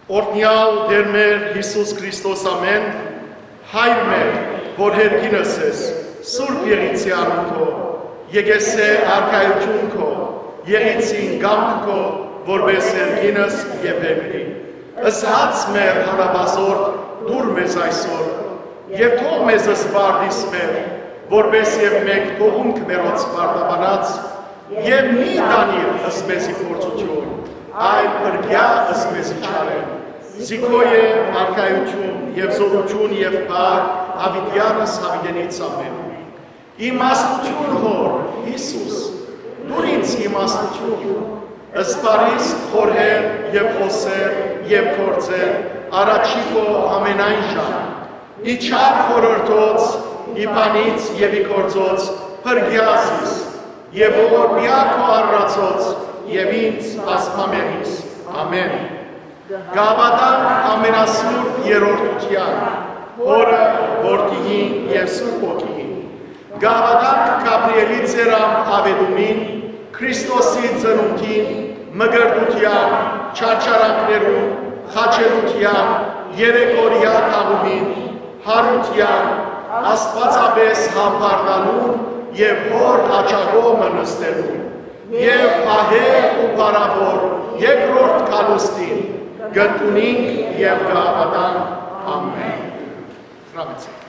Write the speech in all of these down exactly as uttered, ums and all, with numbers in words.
Օրհնեալ Տէր մեր Յիսուս Քրիստոս, ամէն, Հայր մեր, որ երկինս ես, սուրբ եղիցի անուն քո, եկեսէ արքայութիւն քո, եղիցին կամք քո, որպէս երկինս եւ երկրի։ Ըսած մեր հատապազորդ դուր մեզ այսօր, եւ թող մեզ սպարտիս մեր, որպէս եւ մենք թողունք մերոց պարտաբանած, եւ մի տանիր ըսպեզի փորձութիւն, այլ փրկեա ըսպեզի չարէն։ Զիքոյ է արքայութիւն եւ զօրութիւն եւ փառք, յաւիտեանս յաւիտենից ամէն։ Իմաստութիւն Հօր, Յիսուս, դուր ինձ իմաստութիւն, սպարիս խորհել եւ խօսել եւ գործել առաջի քո ամենայն ժամ, ի չար խորհրդոց, ի բանից եւ ի գործոց փրկեա զիս, եւ ողորմեա քո արարածոց եւ ինձ պասպամերիս։ Ամէն։ Կհաւատանք ամենասուրբ երրորդութեան, Հօրը, Որդիին եւ Սուրբ Հոգիին։ Կհաւատանք Գաբրիէլի ծերան աւետումին, Քրիստոսի ծնունդին, մկրտութեան, չարչարանքներուն, խաչելութեան, երեք օրեայ թաղումին, յարութեան, աստուածապէս համբարձանալուն եւ Հօր աջակողմը նստելուն, եւ ահեղ ու փառաւոր երկրորդ գալուստին կ'ընդունինք եւ կ'հաւատանք։ Ամէն։ Հրամեցեք։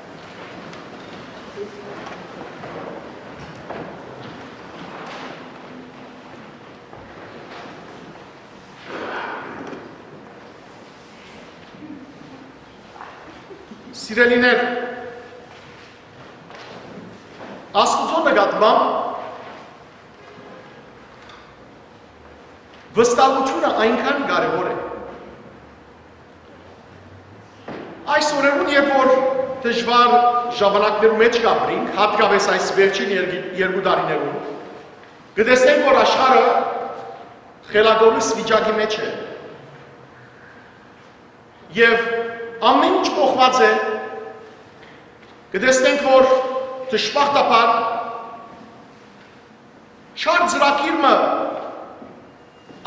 Սիրելիներ, Աստուծոյ նկատմամբ վստահութիւնը այնքան կարեւոր է։ Այս օրերուն, երբ որ դժուար ժամանակներու մէջ կ'ապրինք, յատկապէս այս վերջին երկի-, երկու տարիներուն, կը տեսնենք, որ աշխարհը խելագորիս վիճակի մէջ է եւ ամէն ինչ փոխուած է, կը տեսնենք, որ դժբախտաբար չար ծրագիր մը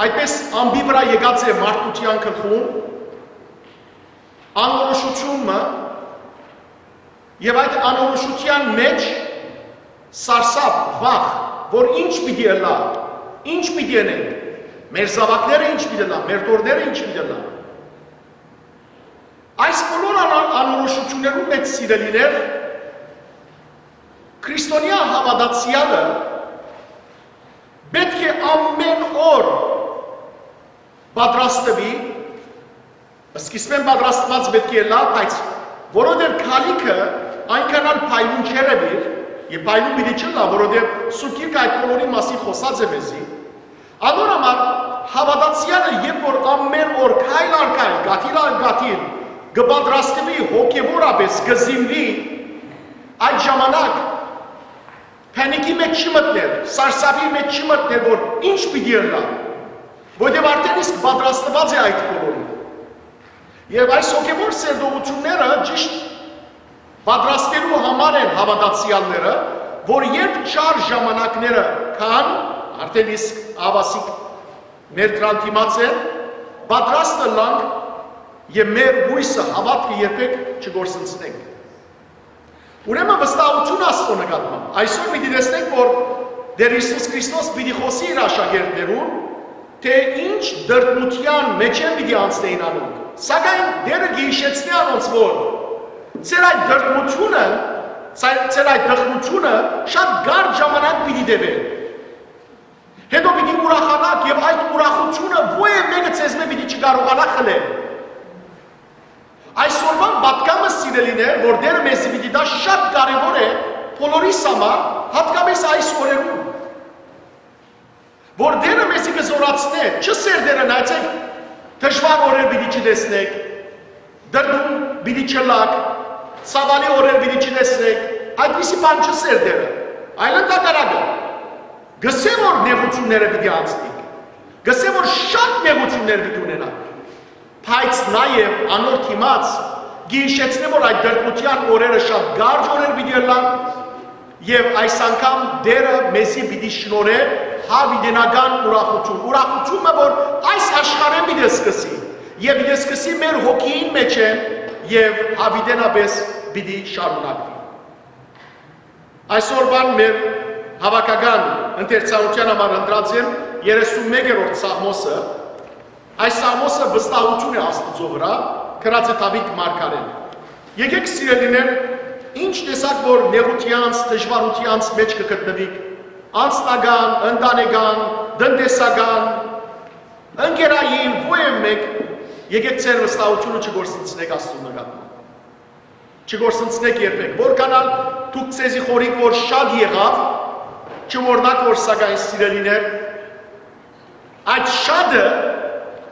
այդպես ամպի վրայ եկած է մարդկութեան գլխուն, անորոշութիւն մը, եւ այդ անորոշութեան մէջ սարսափ, վախ, որ ինչ պիտի ըլլայ, ինչ պիտի ընենք, մեր զաւակները ինչ պիտի ըլլան, մեր թոռները ինչ պիտի ըլլան։ Այս բոլոր անա-, անորոշութիւններուն մէջ, սիրելիներ, քրիստոնեայ հաւատացեալը պէտք է ամէն օր պատրաստուի, սկիզբէն պատրաստուած պէտք է ըլլայ, բայց որովհետեւ գալիքը այնքան ալ փայլուն չէր ըլլայ, եւ փայլուն պիտի չըլլայ, որովհետեւ Սուրբ Գիրքը այդ բոլորի մասին խօսած է մեզի։ Անոր համար հաւատացեալը, երբ որ ամէն օր քայլ առ քայլ, կաթիլ առ կաթիլ կը պատրաստուի հոգեւորապէս, կը զինուի, այդ ժամանակ փանիկի մէջ չի մտներ, սարսափի մէջ չի մտներ, որ ինչ պիտի ըլլայ, որովհետեւ արդէն իսկ պատրաստուած է այդ բոլորին։ Եւ այս հոգեւոր սերտողութիւնները ճիշտ պատրաստելու համար են հաւատացեալները, որ երբ չար ժամանակները կան, արդէն իսկ աղաւասիկ մեր դրան դիմաց են, պատրաստ ըլլանք եւ մեր յոյսը, հաւատքը երբեք չկորսնցնենք։ Ուրեմն վստահութիւն Աստծո նկատմամբ։ Այսօր պիտի տեսնենք, որ Տէր Յիսուս Քրիստոս պիտի խօսի իր աշակերտներուն, թէ ինչ դրդմութեան մէջէն պիտի անցնէին անոնք։ Սակայն Տէրը կը յիշեցնէ անոնց, որ ձեր այդ դրդմութիւնը, ձեր, ձեր այդ դրդմութիւնը շատ կարճ ժամանակ պիտի տեւէ։ Հետո պիտի ուրախանաք եւ այդ ուրախութիւնը ոեւ մէկը ձեզմէ պիտի չկարողանայ խլել։ Այսօրվան պատգամը, սիրելիներ, որ Տէրը մեզի պիտի տայ, շատ կարեւոր է բոլորիս համար, յատկապէս այս օրերուն, որ Տէրը մեզի կը զօրացնէ, չսերտէ, նայեցեք, դժուար օրեր պիտի չտեսնեք, դրդում պիտի չըլլաք, ցաւալի օրեր պիտի չտեսնեք, այդպիսի բան չսերտէ, այլ ընդհակառակը, կ'ըսէ, որ նեղութիւնները պիտի անցնիք, կ'ըսէ, որ շատ նեղութիւններ պիտի ունենաք, բայց նաեւ անոր դիմաց կը յիշեցնէ, որ այդ դրդմութեան օրերը շատ կարճ օրեր պիտի ըլլան, եւ այս անգամ Տէրը մեզի պիտի շնորհէ յաւիտենական ուրախութիւն, ուրախութիւնը, որ այս աշխարհէն պիտի սկսի Եւ պիտի սկսի մեր հոգիին մէջէն եւ յաւիտենապէս պիտի շարունակուի։ Այսօրուան մեր հաւաքական ընթերցանութեան համար ընտրած եմ երեսուն մեկերորդ Սաղմոսը։ Այս Սաղմոսը վստահութիւն է Աստուծոյ վրայ, գրած է Դաւիթ մարգարէն։ Եկէք, սիրելիներ, ինչ տեսակ որ նեղութեանց, դժուարութեանց մէջ կը գտնուիք, անձնական, ընտանեկան, տնտեսական, ընկերային, ո՞յ եմ մէկ, եկէք ձեր վստահութիւնը չկորսնցնէք Աստուծոյ նկատմամբ։ Չկորսնցնէք երբեք։ Որքան ալ դուք ձեզի խորհիք որ շատ եղաւ, չմոռնաք որ սակայն, սիրելիներ, այդ շատը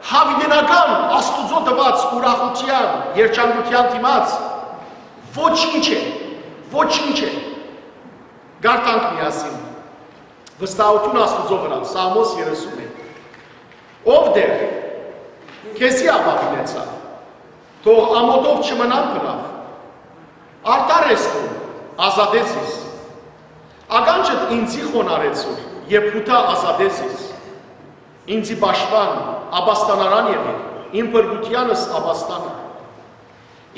յաւիտենական Աստուծոյ տուած ուրախութեան, երջանկութեան դիմաց ոչինչ է, ոչինչ է։ Կարդանք միասին։ Վստահութիւն Աստուծոյ վրայ, Սաղմոս երեսուն մէկ։ Ով Տէր, քեզի ապաւինեցայ, թող ամօթով չմնամ բնաւ։ Արդար ես դուն, ազատէ զիս։ Ականջդ ինծի խոնարհեցուր, եւ յութա ազատէ զիս։ Ինծի պաշտպան, ապաստանարան եղիր, իմ փրկութեանս ապաստանը։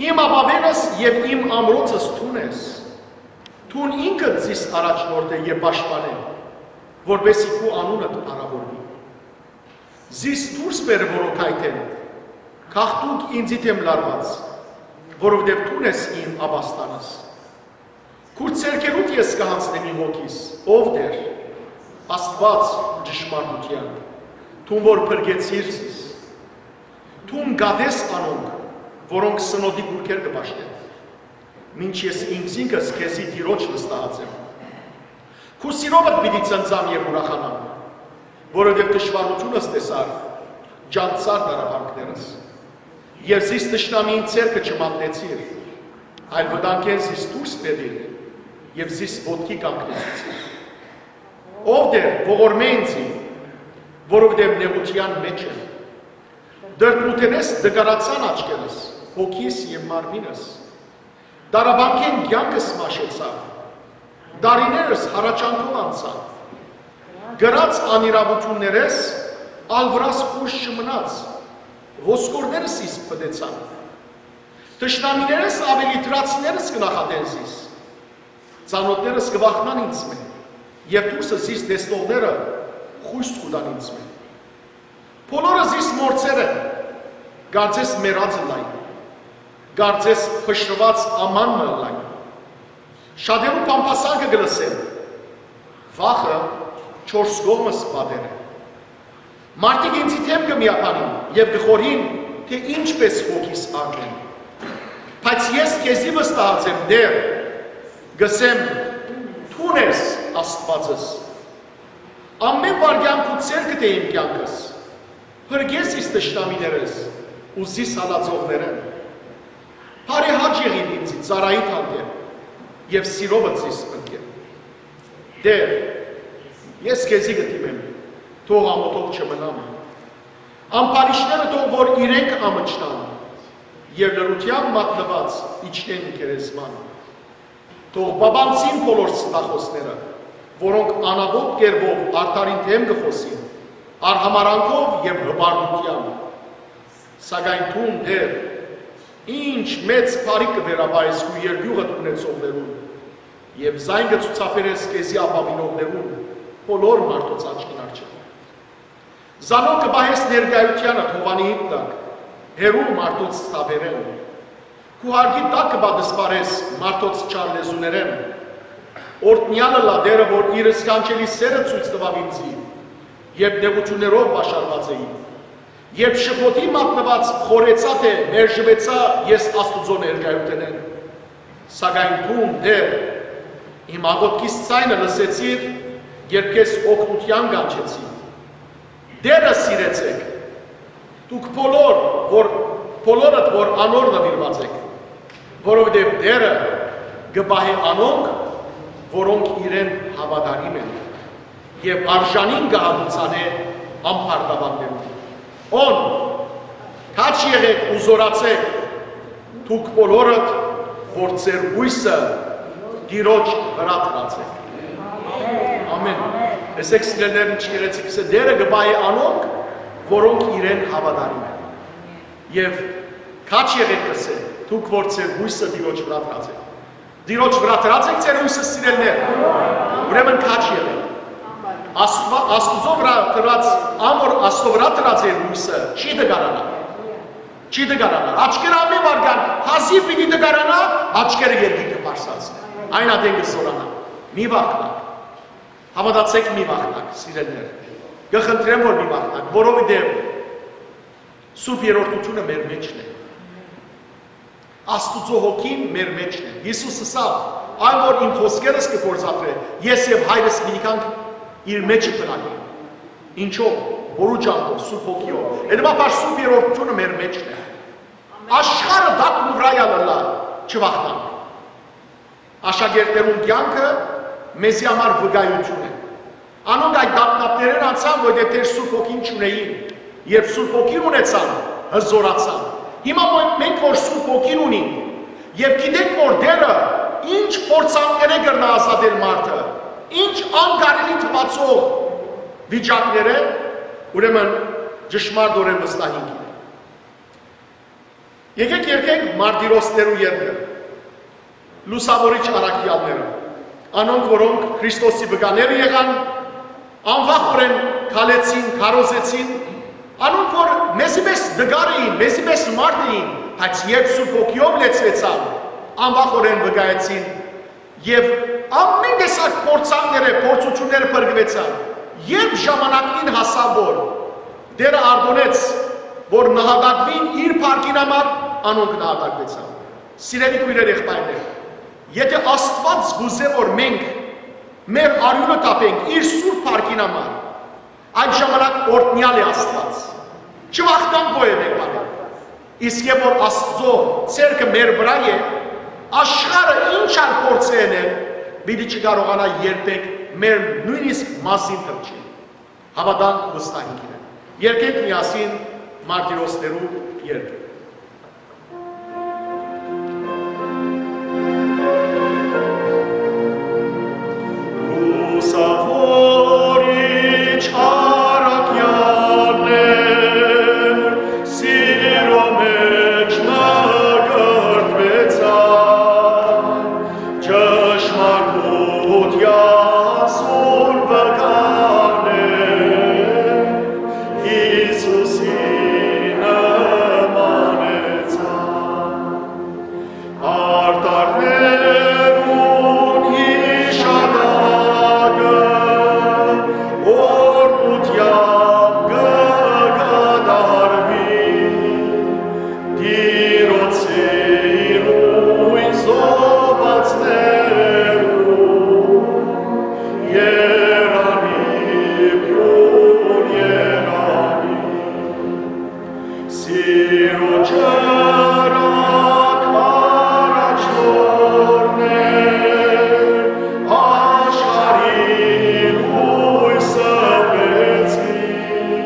Իմ ապաւենս եւ իմ ամրոցս դուն ես։ Դուն ինքդ զիս առաջնորդէ եւ պաշտպանէ, որպէսզի քու անունդ փառաւորուի։ Զիս դուրս բեր որոքայթէն, գաղտնուկ ինծի դէմ լարուած, որովհետեւ դուն ես իմ ապաստանս։ Քուր ձեռքերուդ ես կը յանձնեմ իմ հոգիս, ով Տէր, Աստուած ճշմարտութեան, դուն որ փրկեցիր զիս։ Դուն կատես անոնք, որոնք սնոտի կուռքեր կը պաշտեն, մինչ ես ինքզինքս քեզի Տիրոջ վստահած եմ։ Քու սիրովդ պիտի ծնծամ եւ ուրախանամ, որովհետեւ դժուարութիւնս տեսար, ջանցար դարաբանքներս։ Եւ զիս թշնամիին ձեռքը չմատնեցիր, այլ վտանգէն զիս դուրս բերիր եւ զիս ոտքի կանգնեցուցիր։ Ով Տէր, ողորմէ ինծի, որովհետեւ նեղութեան մէջ եմ։ Դրդմութենէս տկարացան աչքերս, հոգիս եւ մարմինս։ Դարաբանքէն կեանքս մաշեցաւ, տարիներս հառաչանքով անցան։ Կրած անիրաւութիւններէս ալ վրաս խոյս չմնաց, ոսկորներս զիս փտեցան։ Թշնամիներս աւելի դրացիներս կը նախատեն զիս։ Ծանօթներս կը վախնան ինձմէ, եւ դուրսը զիս տեսնողները խոյս կու տան ինձմէ։ Բոլորը զիս մոռցեր են, կարծես մեռած ըլլայ, կարծես փշրուած աման մը ըլլայ։ Շատերու բամբասանքը կը լսեմ, վախը չորս կողմս պատեր է։ Մարդիկ ինձի դէմ կը միաբանին եւ կը խորհին, թէ ինչպէս հոգիս առնեմ։ Բայց ես քեզի վստահած եմ, Տէր, կ'ըսեմ, դուն ես Աստուածս։ Ամէն վայրկեան քու ձեռքդ է իմ կեանքս։ Փրկես զիս թշնամիներէս ու զիս հալածողներէն։ Բարեհաճ եղիր ինձի ծառայիդ հանդէպ եւ սիրովդ զիս փրկեր։ Տէր, ես քեզի կը դիմեմ, թող ամօթով չմնամ։ Ամբարիշտները թող որ իրենք ամչնան եւ լռութեան մատնուած իջնեն գերեզման։ Թող պապանցին բոլոր ստախոսները, որոնք անապոտ կերպով արդարին դէմ կը խօսին, արհամարանքով եւ հպարտութեամբ։ Սակայն դուն, Տէր, ինչ մեծ բարիք կը վերապահես քու երկիւղդ ունեցողներուն եւ զայն կը ցուցաբերես քեզի ապաւինողներուն բոլոր մարդոց աչքին առջեւ։ Զանոնք կը պահես ներկայութեանդ Հովանիին տակ, հեռու մարդոց ցաւերէն։ Քու հարկի տակ կը պատսպարես մարդոց չար լեզուներէն։ Օրհնեալ ըլլայ Տէրը, որ իր սքանչելի սէրը ցոյց տուաւ ինձի, երբ նեղութիւններով պաշարուած էի, երբ շփոթի մատնուած խորհեցայ, թէ մերժուեցայ ես Աստուծոյ ներկայութենէն։ Սակայն դուն, Տէր, իմ աղօթքիս ձայնը լսեցիր, երբ քեզ օգնութեան կանչեցի։ Տէրը սիրեցէք, դուք բոլոր, որ, բոլորդ, որ անոր նուիրուած էք, որովհետեւ Տէրը կը պահէ անոնք, որոնք իրեն հաւատարիմ են, եւ արժանին կը հատուցանէ ամբարտաւաններուն։ Ուն, քաջ եղէք ու զօրացէք, դուք բոլորդ, որ ձեր յոյսը Տիրոջ վրայ դրած եք։ Ամեն։ Տեսեք, սիրելիներ, ինչ գեղեցիկ է, Տէրը կը պահի անոնք, որոնք իրեն հաւատարիմ են։ Եւ քաջ եղէք, կ'ըսէ, դուք որ ձեր յոյսը Տիրոջ վրայ դրած էք։ Տիրոջ վրայ դրած էք ձեր յոյսը, սիրելիներ։ Ուրեմն քաջ եղէք։ Աստուա-, Աստուծոյ վրայ դրած, ան որ Աստուծոյ վրայ դրած է յոյսը, չի դգարանայ։ Չի դգարանայ։ Աչքերը ամէն վայրկեան հազիւ պիտի դգարանայ, աչքերը երկինքը պարսած։ Այն ատեն կը զօրանայ։ Մի վախնաք։ Հաւատացէք, մի վախնաք, սիրելիներ։ Կը խնդրեմ, որ մի վախնաք, որովհետեւ Սուրբ Երրորդութիւնը մեր մէջն է։ Աստուծոյ հոգին մեր մէջն է։ Յիսուս ըսաւ. «Այն որ իմ խօսքերս կը գործադրէ, ես եւ Հայրս պիտի գանք իր մէջը բնակենք»։ Ինչո՞վ, որու՞ ճամբով, Սուրբ Հոգիով։ Հետեւաբար Սուրբ Երրորդութիւնը մեր մէջն է։ Աշխարհը տակն ու վրայ ալ ըլլայ, չվախնանք։ Աշակերտներուն կեանքը մեզի համար վկայութիւն է։ Անոնք այդ տագնապներէն անցան, որովհետեւ դեռ Սուրբ Հոգին չունէին, երբ Սուրբ Հոգին ունեցան, հզօրացան։ Հիմա մե-, մենք որ Սուրբ Հոգին ունենք եւ գիտենք, որ Տէրը ինչ փորձանքներէ կրնայ ազատել մարդը, ինչ անկարելի թուացող վիճակներէ, ուրեմն ճշմարտօրէն վստահ ենք իրեն։ Եկէք երգենք մարտիրոսներու երգը, լուսաւորիչ առաքեալները, անոնք, որոնք Քրիստոսի վկաները եղան, անվախօրէն քալեցին, քարոզեցին, անոնք, որ մեզի պես տկար էին, մեզի պես մարդ էին, բայց երբ Սուրբ Հոգիով լեցուեցան, անվախօրէն վկայեցին եւ ամէն տեսակ փորձանքները, փորձութիւնները փրկուեցան։ Երբ ժամանակին հասաւ, որ Տէրը արտոնեց, որ նահատակուին իր փառքին համար, անոնք նահատակուեցան։ Սիրելի քոյրեր, եղբայրներ, եթե Աստուած կ'ուզէ, որ մենք մեր արիւնը թափենք իր սուրբ փառքին համար, այդ ժամանակ օրհնեալ է Աստուած։ Չվախնանք որեւէ մէկ բանէ։ Իսկ երբ որ Աստուծոյ ձեռքը մեր վրայ է, աշխարհը ինչ ալ փորձ է ընել, պիտի չկարողանայ երբեք մեր նոյնիսկ մազին թռչել։ Հաւատանք ու վստահենք իրեն։ Երգենք միասին մարտիրոսներու երգը։ Լուսաւորիչ առաքեալներ, սիրո մէջ մկրտուեցան, ճշմարտութեան սուրբ վկաներ, Յիսուսին նմանեցան։ Արտառներուն յիշատակը օրհնութեամբ կը կատարուի, Տիրոջ սիրուն զոհուածներուն, երանի փիւր երանի։ Սիրո ճրագ առաջնորդներ, աշխարհի լոյսը բեցին,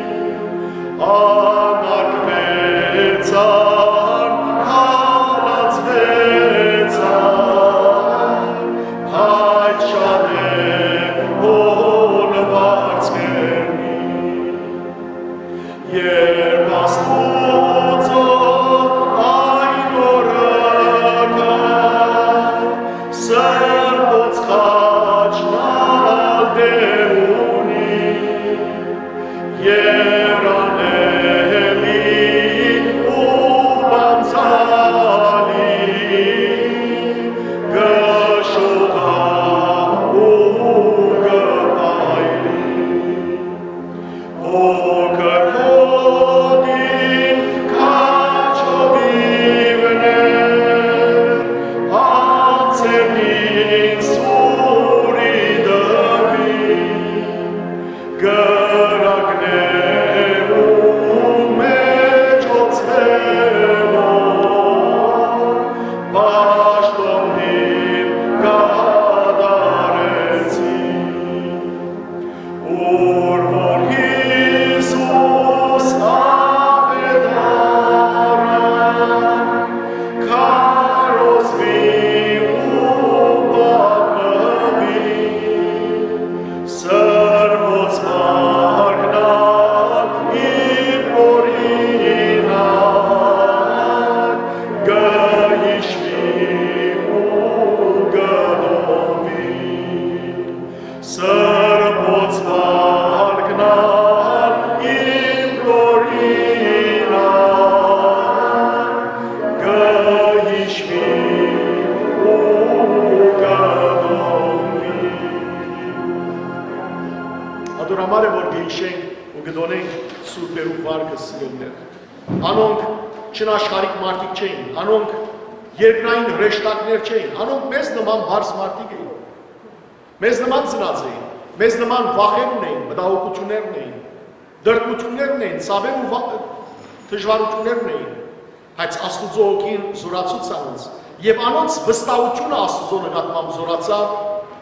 անարգուեցան, հալածուեցան, բայց շատ է հոն վարձ կ'երնի։ Երբ Աստուծոյ այն օրը գայ, սրբոց խաչն ալ Տէր ունի, երանելի ու Համար է որ կհիշենք ու կտոնենք սուրբերու վարկը, սիրելիներ։ Անոնք չնաշխարհիկ մարդիկ չէին, անոնք երկրային հրեշտակներ չէին, անոնք մեզ նման բարձ մարդիկ էին։ Մեզ նման ծնած էին, մեզ նման վախեր ունեին, մտահոգություններ ունեին, դրդմություններ ունեին, ցաւեր ու վա-, դժվարություններ ունեին, բայց Աստուծոյ հոգին զորացուց անոնց, եւ անոնց վստահութիւնը Աստուծոյ նկատմամբ զորացաւ,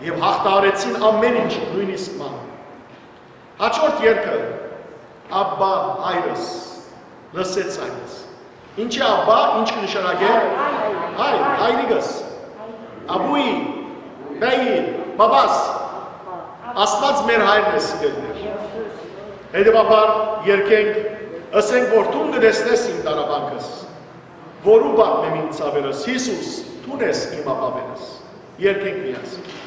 եւ յաղթահարեցին ամէն ինչ, նոյնիսկ մահը։ Հաջորդ երգը, «Աբբա, հայրս», լսեց հայրս։ Ինչի Աբբա, ինչ կը նշանակէ։ Հայր, հայրիկս, աբուի, բեի, բաբաս, Աստուած մեր հայրն է, սիրելիներ։ Հետևաբար, երգենք, ըսենք, որ դուն կը տեսնես իմ տառապանքս, որու պատմեմ իմ ցաւերս, Յիսուս, դուն ես իմ ապաւերս։ Երգենք միասին։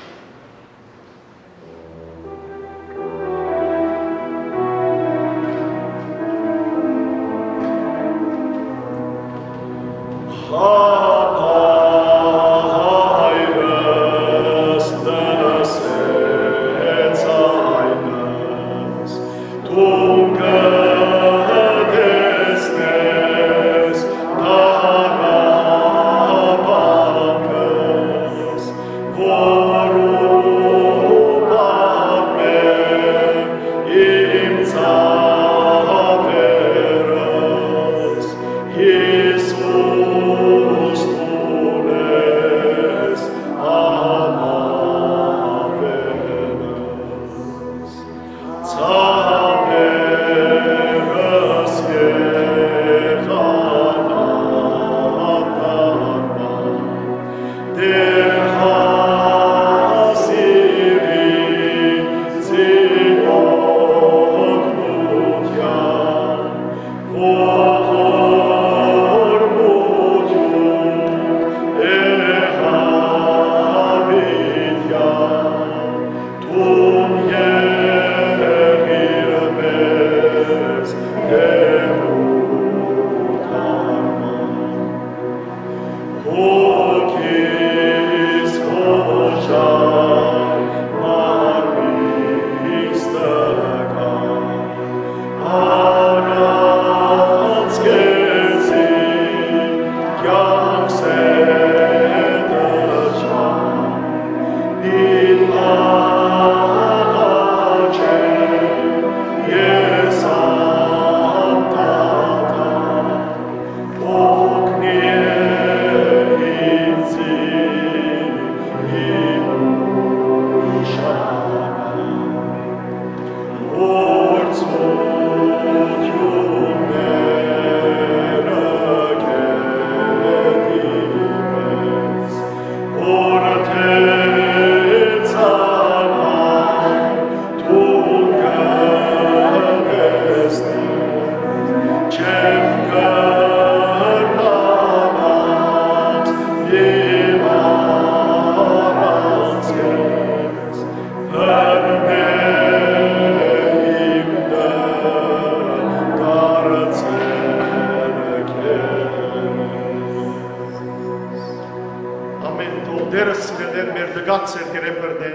Ամէն, թող Տէրը, սիրելիներ, մեր տկար ձեռքերէն բռնէ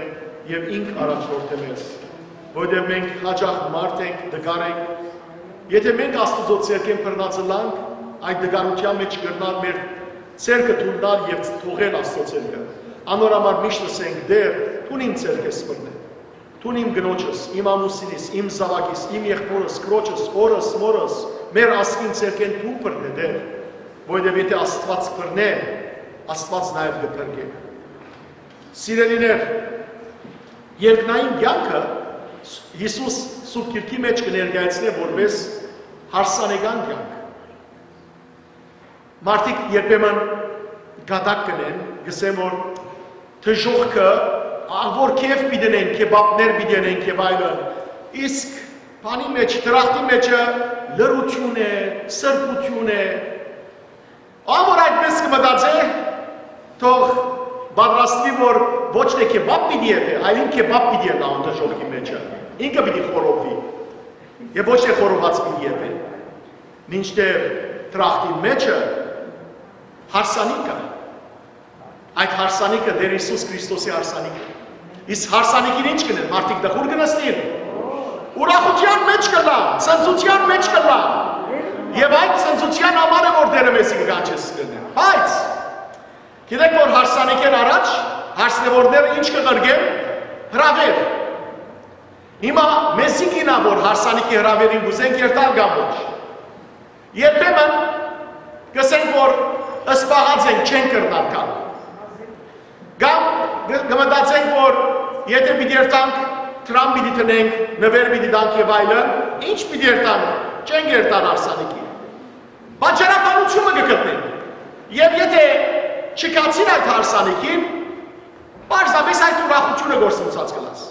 եւ ինք առաջնորդէ մեզ, որովհետեւ մենք յաճախ մարդ ենք, տկար ենք։ Եթէ մենք Աստուծոյ ձեռքէն բռնած ըլլանք, այդ տկարութեան մէջ կրնար մեր ձեռքը թուլնալ եւ թողել Աստուծոյ ձեռքը։ Անոր համար միշտ ըսենք. «Տէր, դուն իմ ձեռքէս բռնէ, դուն իմ կնոջս, իմ ամուսինիս, իմ զաւակիս, իմ եղբօրս, քրոջս, հօրս, մօրս, մեր ազգին ձեռքէն դուն բռնէ, Տէր, որովհետեւ եթէ Աստուած բռնէ, Աստուած նաեւ կը փրկէ»։ Սիրելիներ, երկնային կեանքը Յիսուս Սուրբ Գիրքի մէջ կը ներկայացնէ որպէս հարսանեկան կեանք։ Մարդիկ երբեմն կատակ կ'ընեն, կ'ըսեն, որ դժոխքը, ահ, որ քեֆ պիտի ընեն, քեբաբներ պիտի ընեն եւ այլն, իսկ բանի մէջ, դրախտի մէջը լռութիւն է, սրբութիւն է։ Ահ, որ այդպես կը մտածէ, թող պատրաստուի, որ ոչ թէ քեբաբ պիտի եփէ, այլ ինքը քեբաբ պիտի ըլլայ դժոխքի մէջը։ Ինքը պիտի խորովուի եւ ոչ թէ խորոված պիտի եփէ։ Մինչդեռ դրախտին մէջը հարսանիք կայ։ Այդ հարսանիքը Տէր Յիսուս Քրիստոսի հարսանիքը։ Իսկ հարսանիքին ի՞նչ կ'ընեն, մարդիկ տխուր կը նստին։ Ուրախութեան մէջ կ'ըլլան, ցնծութեան մէջ կ'ըլլան։ Եւ այդ ցնծութեան համար է որ Տէրը մեզի կը կանչէ, սիրելիներ։ Բայց գիտեք որ հարսանիքէն առաջ հարսնեւորները ինչ կը ղրկեն, հրաւեր։ Հիմա մեզի կ'իյնայ որ հարսանիքի հրաւերին կ'ուզենք երթալ կամ ոչ։ Երբեմն կ'ըսենք որ սպաղած ենք, չենք կրնար գալ։ Կամ կը, կը մտածենք որ եթե պիտի երթանք, դրամ պիտի դնենք, նուէր պիտի տանք եւ այլն, ինչ պիտի երթանք, չենք երթար հարսանիքի։ Պատճառաբանութիւնը կը գտնենք։ Եւ եթե չգացիր այդ հարսանիքին, պարզապէս այդ ուրախութիւնը գործընծաց կ'ըլլաս։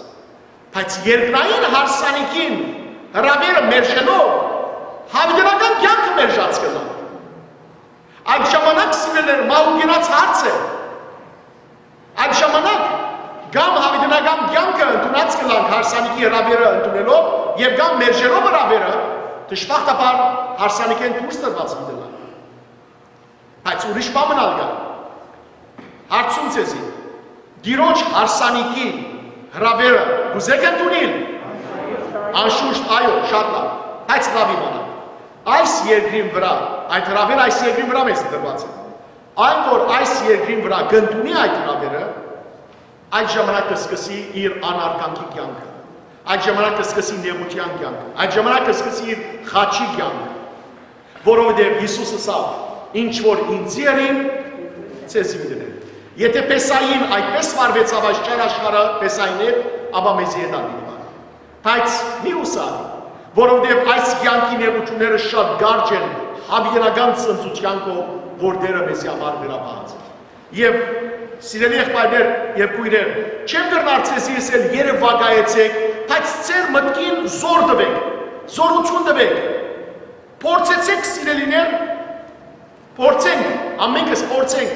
Բայց երկնային հարսանիքին հրաւերը մերժելով, յաւիտենական կեանքը մերժած կ'ըլլայ։ Այդ ժամանակ, սիրելիներ, մահու կենաց հարց է։ Այդ ժամանակ կամ յաւիտենական կեանքը ընդունած կ'ըլլանք հարսանիքի հրաւերը ընդունելով եւ կամ մերժելով հրաւերը, դժբախտաբար հարսանիքէն դուրս տրուած պիտի ըլլանք։ Բայց ուրիշ բան մըն ալ կայ։ Հարցում ձեզի, Տիրոջ հարսանիքի հրաւերը կ'ուզե՞ք ընդունիլ։ Անշուշտ, այո, շատ լաւ, բայց լաւ իմանաք։ Այս երկրին վրայ, այդ հրաւերը այս երկրին վրայ մեզ տրուած է։ Այն որ այս երկրին վրայ կ'ընդունի այդ հրաւերը, այդ ժամանակ կը սկսի իր անարգանքի կեանքը, այդ ժամանակ կը սկսի նեղութեան կեանքը, այդ ժամանակ կը սկսի իր խաչի կեանքը, որովհետեւ Յիսուս ըսաւ. «Ինչ որ ինծի ըրին, ձեզի պիտի ըրին»։ Եթե Պեսային այդպես վարվեցաւ այս չար աշխարհը Պեսային հետ, ապա մեզի հետ ալ պիտի վարի։ Բայց մի ուսա, որովհետեւ այս կեանքի նեղութիւնները շատ կարճ են յաւիտենական ցնծութեան քով, որ Տէրը մեզի համար վերապահած է։ Եւ սիրելի եղբայրներ եւ քոյրեր, չեմ կրնար ձեզի ըսել երեւակայեցէք, բայց ձեր մտքին զօր տուէք, զօրութիւն տուէք, փորձեցէք, սիրելիներ, փորձենք, ամենքս փորձենք,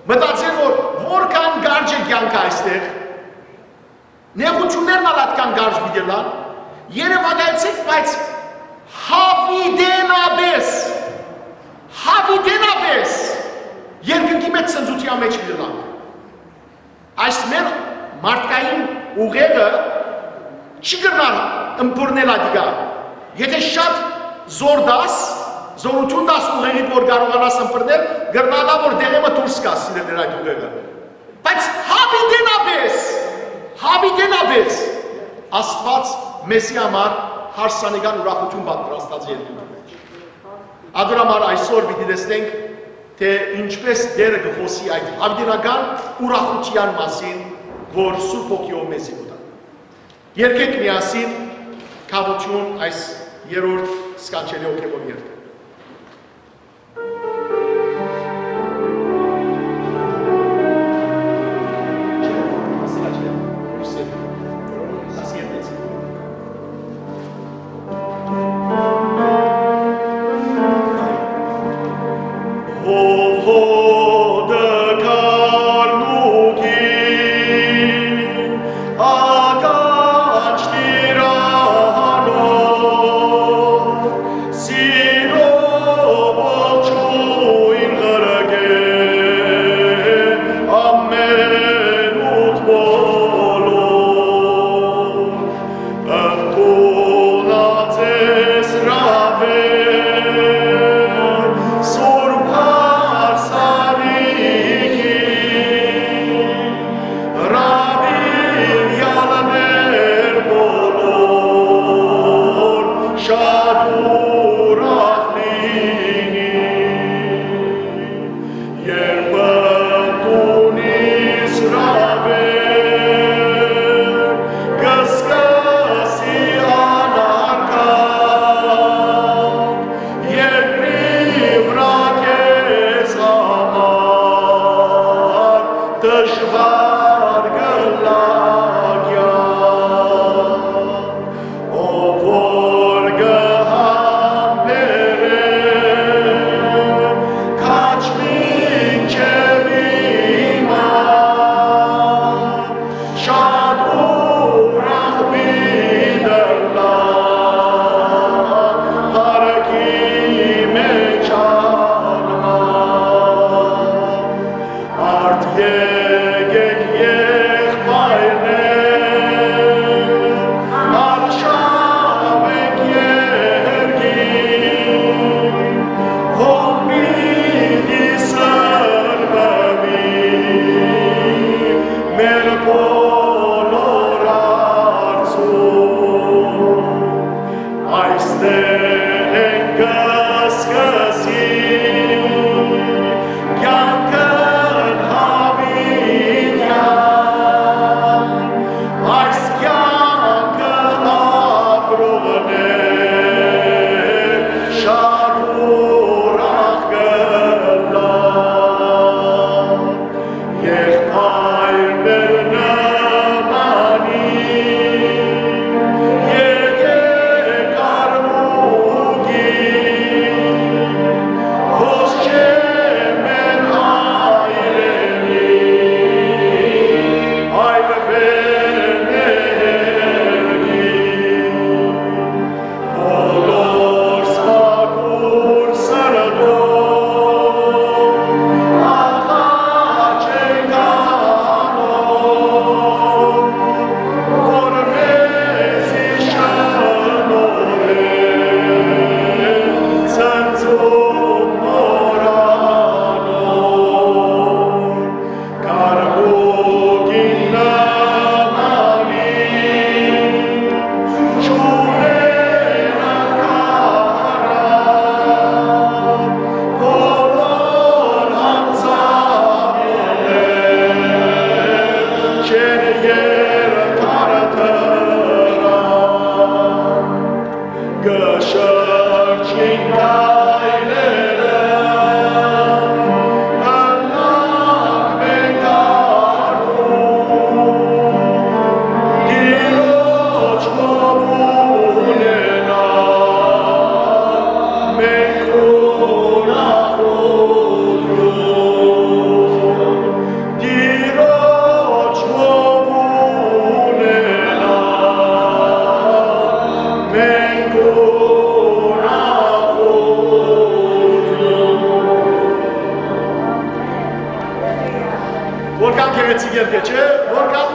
մտածել որ որքան կարճ է կեանքը այստեղ, նեղութիւններն ալ ատկան կարճ պիտի ըլլան, երեւակայեցէք, բայց յաւիտենապէս, յաւիտենապէս երկնքի մեջ ցնծութեան մեջ պիտի ըլլանք։ Այս մեր մարդկային ուղեղը չի կրնար ըմբռնել ատիկա։ Եթե շատ զօր տաս, զօրութիւն տաս ուղեղիդ որ կարողանաս ըմբռնել, կրնանայ որ դեղէ մը դուրս գաս, սիրելիներ, այդ ուղեղը։ Բայց յաւիտենապէս, յաւիտենապէս Աստուած մեզի համար հարսանեկան ուրախութիւն պատրաստած է երկնքի մեջ։ Ատոր համար այսօր պիտի տեսնենք, թէ ինչպէս Տէրը կը խօսի այդ յաւիտենական ուրախութեան մասին, որ Սուրբ Հոգիով մեզի կու տայ։ Երգենք միասին Գաւութիւն այս երրորդ սքանչելի հոգեւոր երգը։ Ով հոտը գառնուկին, ականջ տիրանոր, սիրով ողջոյն ղրկէ ամենուդ բոլոր։ Ընդունած ես հրաւեր Սուրբ Հարսանիքին, հրաւիրեալներ բոլոր շատ ուրախ լինին։ Երբ ընդունիս հրաւեր, կը սկսի անարգանք երկրի վրայ քեզ համար դժուար կ'ըլլայ կեանք։ Ով որ կը համբերէ քաջ մինչեւ հիմա, շատ ուրախ պիտի ըլլայ փառքի մեջ անմար։ Արդ եկե մեր բոլոր հարցում, այստեղ ենք կը սկսենք կեանքն յաւիտեան, այս կեանքը ապրողներ շատ ուրախ կ'ըլլան։ Եղբայրներ նմանին, եթէ կարմուկի, հոս չէ մեր հայրենի, այլ վեր մերկի։ Բոլոր սփակուր սրտով աղաչենք անոր, որ մեզի շնորհէ ցնծում մոռանոր։ Կարմուկին նմանին չունեն անկարան, բոլոր անձամբներ չեն երկար դրան։ Կը շրջին քայլերը, ըլլանք մենք արդում, Տիրոջ հոբ ունենանք մենք ուրախութիւն։ Տիրոջ հոբ ունենանք մենք ուրախութիւն։ Որքան գեղեցիկ երգ է, չէ՞, որքան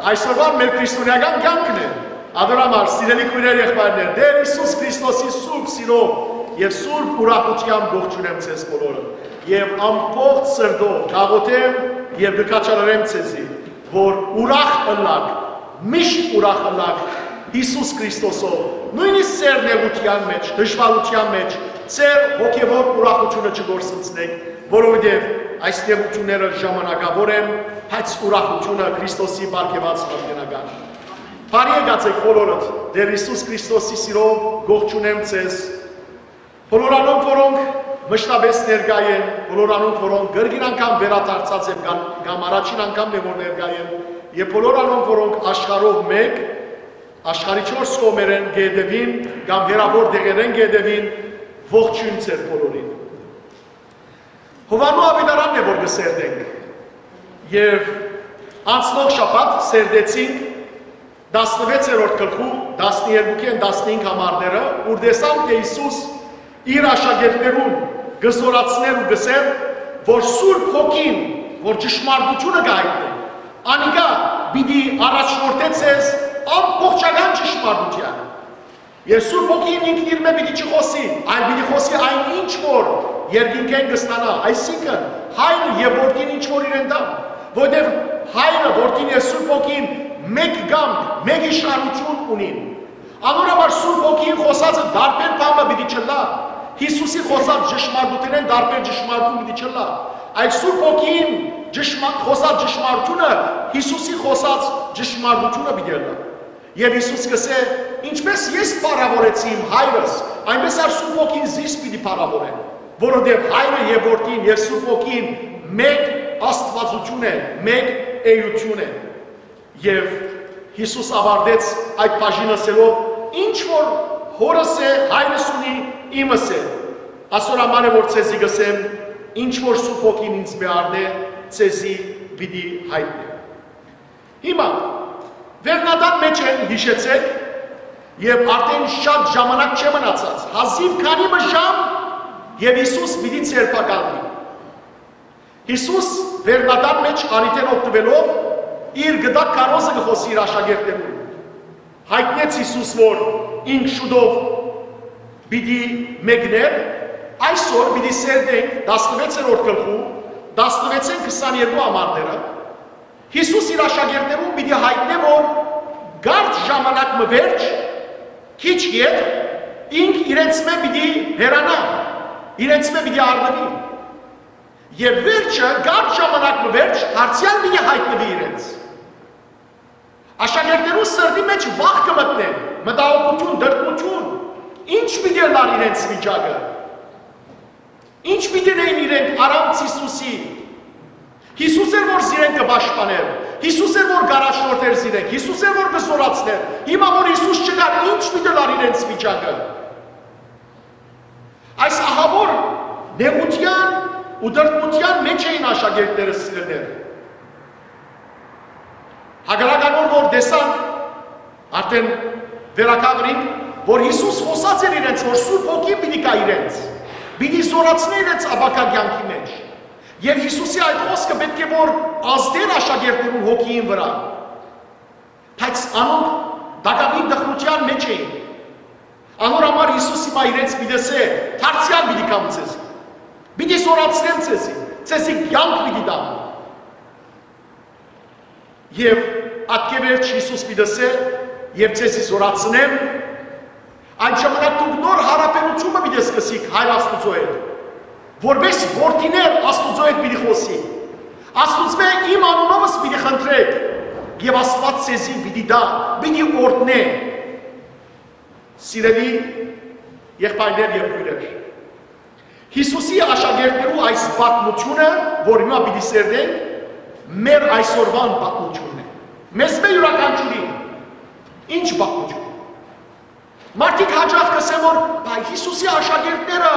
այսօրվան մեր քրիստոնեական կեանքն է։ Ատոր համար, սիրելի քոյրեր, եղբայրներ, Տէր Յիսուս Քրիստոսի սուրբ սիրով եւ սուրբ ուրախութեամբ կ'ողջունեմ ձեզ բոլորը եւ ամբողջ սրտով կ'աղօթեմ եւ կը քաջալերեմ ձեզի, որ ուրախ ըլլաք, միշտ ուրախ ըլլաք Յիսուս Քրիստոսով, նոյնիսկ ձեր նեղութեան մէջ, դժուարութեան մէջ, ձեր հոգեւոր ուրախութիւնը չկորսնցնէք, որովհետեւ այս նեղութիւնները ժամանակաւոր են, բայց ուրախութիւնը Քրիստոսի պարգեւած յարդենական։ Բարի եկած եք բոլորդ, Տէր Յիսուս Քրիստոսի սիրով կ'ողջունեմ ձեզ, բոլոր անոնք, որոնք մշտապէս ներկայ են, բոլոր անոնք, որոնք կրկին անգամ վերադարձած են կամ, կամ առաջին անգամն է, որ ներկայ են, եւ բոլոր անոնք, որոնք աշխարհով մէկ, աշխարհի չորս կողմերէն կ'ետեւին կամ հեռաւոր տեղերէն կ'ետեւին, ողջոյն ձեր բոլորին։ Յովհաննու աւետարանն է, որ կը սերտենք։ Եւ անցնող շաբաթ սերտեցինք տասնվեցերորդ գլխու տասներկուքէն տասնհինգ համարները, ուր տեսանք, թէ Յիսուս իր աշակերտներուն կը զօրացնէր ու կ'ըսէր, որ Սուրբ Հոգին, որ ճշմարտութիւնը կը յայտնէ, անիկա պիտի առաջնորդէ ձեզ ամբողջական ճշմարտութեան։ Եւ Սուրբ Հոգին ինքն իրմէ պիտի չխօսի, այլ պիտի խօսի այն ինչ որ երկինքէն կը ստանայ, այսինքն՝ Հայրը եւ Որդին ինչ որ իրեն տան, որովհետեւ Հայրը, Որդին եւ Սուրբ Հոգին մէկ կամք, մէկ իշխանութիւն ունին։ Անոր համար Սուրբ Հոգին խօսածը տարբեր բան մը պիտի չըլլայ, Յիսուսի խօսած ճշմարտութենէն տարբեր ճշմարտութիւն պիտի չըլլայ, այլ Սուրբ Հոգին ճշմա-, խօսած ճշմարտութիւնը Յիսուսի խօսած ճշմարտութիւնը պիտի ըլլայ։ Եւ Յիսուս կ'ըսէ. «Ինչպէս ես փառաւորեցի իմ Հայրս, այնպէս ալ Սուրբ Հոգին զիս պիտի փառաւորէ, որովհետեւ Հայրը եւ Որդին եւ Սուրբ Հոգին մէկ Աստուածութիւն է, մէկ էութիւն է»։ Եւ Յիսուս աւարտեց այդ բաժինը ըսելով. «Ինչ որ Հօրս է, Հայրս ունի, իմս է։ Ասոր համար է որ ձեզի կ'ըսեմ, ինչ որ Սուրբ Հոգին ինծմէ առնէ, ձեզի պիտի յայտնէ»։ Հիմա, վերնատան մէջ են, յիշեցէք, եւ արդեն շատ ժամանակ չէ մնացած, հազիւ քանի մը ժամ, եւ Յիսուս պիտի ձերբակալուի։ Յիսուս, վերնատան մէջ առիթէն օգտուելով, իր գդակ քարոզը կը խօսի իր աշակերտներուն։ Յայտնեց Յիսուս, որ ինք շուտով պիտի մեկներ, այսօր պիտի սերտենք տասնվեցերորդ գլխու տասնվեցէն քսաներկու համարները, Յիսուս իր աշակերտներուն պիտի յայտնէ, որ կարճ ժամանակ մը վերջ, քիչ յետ, ինք իրենցմէ պիտի հեռանայ, իրենցմէ պիտի առնուի։ Եւ վերջը, կարճ ժամանակ մը վերջ, դարձեալ պիտի յայտնուի իրենց։ Աշակերտներուն սրտի մէջ վախ կը մտնէ, մտահոգութիւն, տրտմութիւն։ Ի՞նչ պիտի ըլլար իրենց վիճակը։ Ի՞նչ պիտի ընէին իրենք առանց Յիսուսի։ Յիսուս էր, որ զիրենք կը պաշտպաներ, Յիսուս էր, որ կ'առաջնորդէր զիրենք, Յիսուս էր, որ կը զօրացնէր։ Հիմա որ Յիսուս չկար, ի՞նչ պիտի ըլլար իրենց վիճակը։ Այս ահաւոր նեղութեան ու տրտմութեան մէջ էին աշակերտները, սիրելիներ։ Հակառակ անոր որ տեսանք, արդեն վերականգնենք, որ Յիսուս խօսած էր իրենց, որ Սուրբ Հոգին պիտի գայ իրենց, պիտի զօրացնէ իրենց ապագայ կեանքի մէջ։ Եւ Յիսուսի այդ խօսքը պէտք է որ ազդէր աշակերտներուն հոգիին վրայ։ Բայց անոնք տակաւին տխրութեան մէջ էին։ Անոր համար Յիսուս հիմա իրենց պիտի ըսէ. «Դարձեալ պիտի գամ ձեզի, պիտի զօրացնեմ ձեզի, ձեզի կեանք պիտի տամ»։ Եւ ատկէ վերջ Յիսուս պիտի ըսէ. «Եւ ձեզի զօրացնեմ»։ Այն ժամանակ դուք նոր յարաբերութիւնը պիտի սկսիք Հայր Աստուծոյ հետ, որպէս որդիներ Աստուծոյ հետ պիտի խօսի։ Աստուծմէ իմ անունովս պիտի խնդրէք, եւ Աստուած ձեզի պիտի տայ, պիտի օրհնէ։ Սիրելի եղբայրներ եւ քոյրեր, Յիսուսի աշակերտներու այս պատմութիւնը, որ հիմա պիտի սերտենք, մեր այսօրուան պատմութիւնն է։ Մեզմէ յուրաքանչիւրին։ Ի՞նչ պատմութիւն։ Մարդիկ յաճախ կ'ըսեն, որ «Բայց Յիսուսի աշակերտները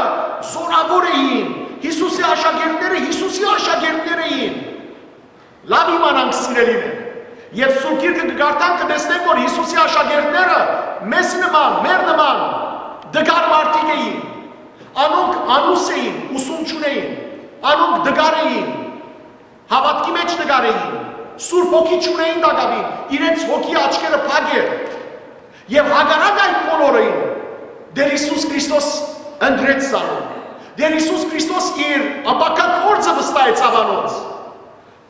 զօրաւոր էին, Յիսուսի աշակերտները Յիսուսի աշակերտներ էին»։ Լաւ իմանանք, սիրելիներ, եւ Սուրբ Գիրքը կը կարդանք, կը տեսնենք, որ Յիսուսի աշակերտները մեզ նման, մեր նման տկար մարդիկ էին։ Անոնք անուս էին, ուսում չունէին, անոնք տկար էին, հաւատքի մէջ տկար էին, Սուրբ Հոգի չունէին տակաւին, իրենց հոգի աչքերը փակ էր։ Եւ հակառակ այդ բոլորին, Տէր Յիսուս Քրիստոս ընտրեց զանոնք։ Տէր Յիսուս Քրիստոս իր ապագայ գործը վստահեցաւ անոնց։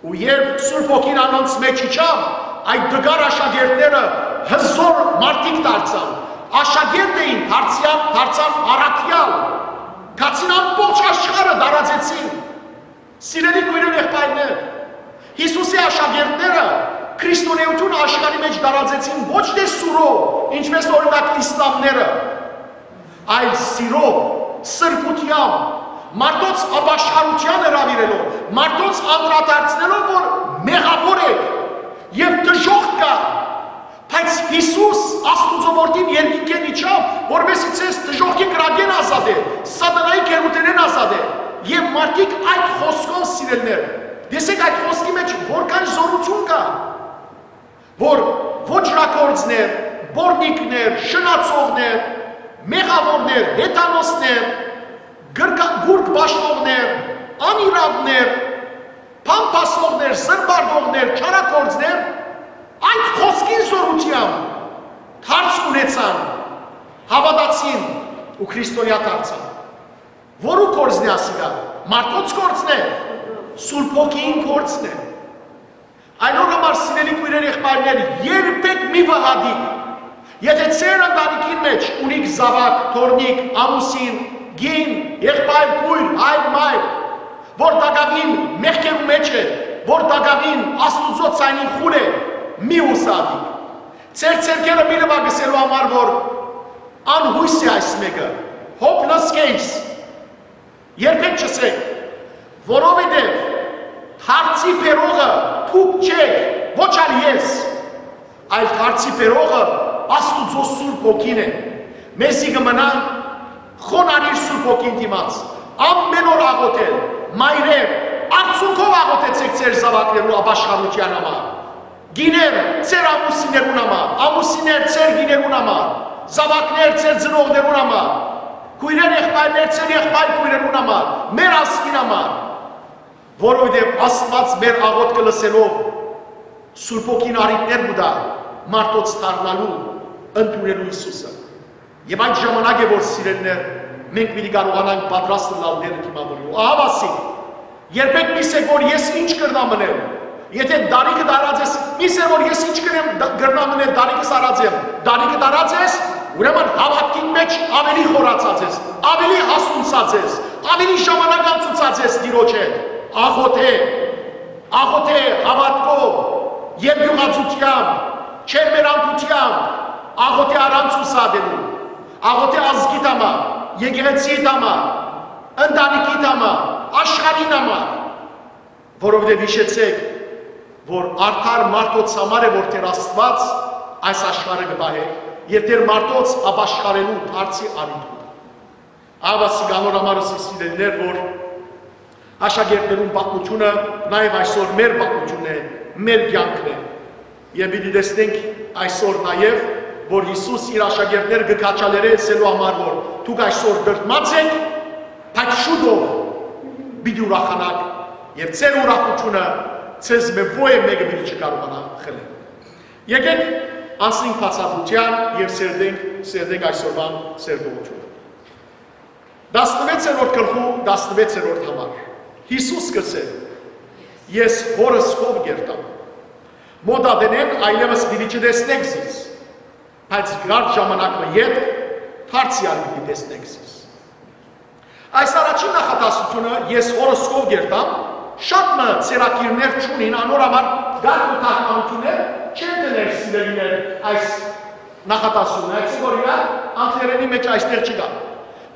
Ու երբ Սուրբ Հոգին անոնց մէջ իջաւ, այդ տկար աշակերտները հզօր մարդիկ դարձան, աշակերտ էին, դարձեալ, դարձան առաքեալ, գացին ամբողջ աշխարհը տարածեցին։ Սիրելի քոյրեր, եղբայրներ, Յիսուսի աշակերտները քրիստոնէութիւնը աշխարհի մէջ տարածեցին ոչ թէ սուրով, ինչպես օրինակ իսլամները, այլ սիրով, սրբութեամբ, մարդոց ապաշխարութեան հրաւիրելով, մարդոց անդրադարձնելով, որ մեղաւոր եք եւ դժոխք կայ, բայց Յիսուս Աստուծոյ Որդին երկնքէն իջաւ, որպէս զի ձեզ դժոխքի կրակէն ազատէ, սատանայի գերութենէն ազատէ։ Եւ մարդիկ այդ խօսքով, սիրելիներ, տեսեք, այդ խօսքի մէջ որքան զօրութիւն կայ, որ ոճրագործներ, պոռնիկներ, շնացողներ, մեղաւորներ, հեթանոսներ, գրկա-, գուրգ պաշտողներ, անիրաւներ, փամփասողներ, զրպարտողներ, չարագործներ, այդ խօսքին զօրութեամբ դարձ ունեցան, հաւատացին ու քրիստոնեայ դարձան։ Որու գործն է ասիկա։ Մարդոց գործն է, Սուրբ Հոգիին գործն է։ Այն օր համար, սիրելի քոյրեր, եղբայրներ, երբեք մի վհատիք, եթե ձեր ընտանիքին մէջ ունիք զաւակ, թոռնիկ, ամուսին, կին, եղբայր, քոյր, հայր, մայր, որ տակաւին մեղքերու մէջ է, որ տակաւին Աստուծոյ ձայնին խուլ է, մի ուսատիք։ Ձեր ձեռքերը մի նվագ ըսելու համար, որ անհոյս է այս մէկը, hopeless case։ Երբեք չըսեք, որովհետև դարձի բերողը դուք չէք, ոչ ալ ես, այլ դարձի բերողը Աստուծոյ Սուրբ Հոգին է։ Մեզի կը մնայ խոնարհիլ Սուրբ Հոգին դիմաց, ամեն օր աղօթել, մայրեր, արցունքով աղօթեցեք ձեր զաւակներու ապաշխարութեան համար։ Կիներ, ձեր ամուսիններուն համար, ամուսիններ, ձեր կիներուն համար, զաւակներ, ձեր ծնողներուն համար, քոյրեր, եղբայրներ, ձեր եղբայր քոյրերուն համար, մեր ազգին համար, որովհետև Աստուած մեր աղօթքը լսելով Սուրբ Հոգին առիթներ կու տայ մարդոց դառնալու, ընդունելու Յիսուսը։ Եւ այդ ժամանակ է, որ, սիրելիներ, մենք պիտի կարողանանք պատրաստ ըլլալ Տերը դիմաւորելու։ Ահա ասի, երբեք մի սեք, որ ես ինչ կրնամ ընել, Եթէ տարիքը տարած ես, մի սեր որ ես ինչ կրեմ, դ-, կրնամ ընել, տարիքս արած եմ, տարիքը տարած ես, ուրեմն հաւատքին մեջ ավելի խորացած ես, ավելի հասունցած ես, ավելի ժամանակ անցուցած ես Տիրոջ հետ, աղոթէ, աղոթէ հաւատքով, երկյուղածությամբ, չերմերանքությամբ, աղոթէ առանց ուսատելու, աղոթէ ազգիդ համար, եկեղեցիդ համար, ընտանիքիդ համար, աշխարհին համար, որովհետեւ յիշեցէք, որ արդար մարդոց համար է, որ Տէր Աստուած այս աշխարհը կը պահէ, եւ Տէր մարդոց ապաշխարելու դարձի անիթ կու տայ։ Ահա սիկ անոր համար ըսի, սիրելիներ, որ աշակերտներուն պատմութիւնը նաեւ այսօր մեր պատմութիւնն է, մեր կեանքն է։ Եւ պիտի տեսնենք այսօր նաեւ, որ Յիսուս իր աշակերտները կը քաջալերէ ըսելու համար, որ դուք այսօր տրտմած էք, բայց շուտով պիտի ուրախանաք, եւ ձեր ուրախութիւնը ձեզմէ ոեւ մէկը պիտի չկարողանայ խլել։ Եկէք անցնենք բացատրութեան եւ սերտենք, սերտենք այսօրվան սերտողութիւնը։ Տասնվեցերորդ գլխու տասնվեցերորդ համար։ Յիսուս կ'ըսէ. «Ես Հօրս քով կ'երթամ։ Մօտ ատենէն այլեւս պիտի չտեսնէք զիս, բայց կարճ ժամանակ մը ետք դարձեալ պիտի տեսնէք զիս»։ Այս առաջին նախադասութիւնը, «Ես Հօրս քով կ'երթամ», շատ մը ձեռագիրներ չունին, անոր համար կարգ ու թարգմանութիւններ չեն դներ, սիրելիներ, այս նախադասութիւնը, այսինքն, օրինակ, անգլերէնի մեջ այստեղ չկայ։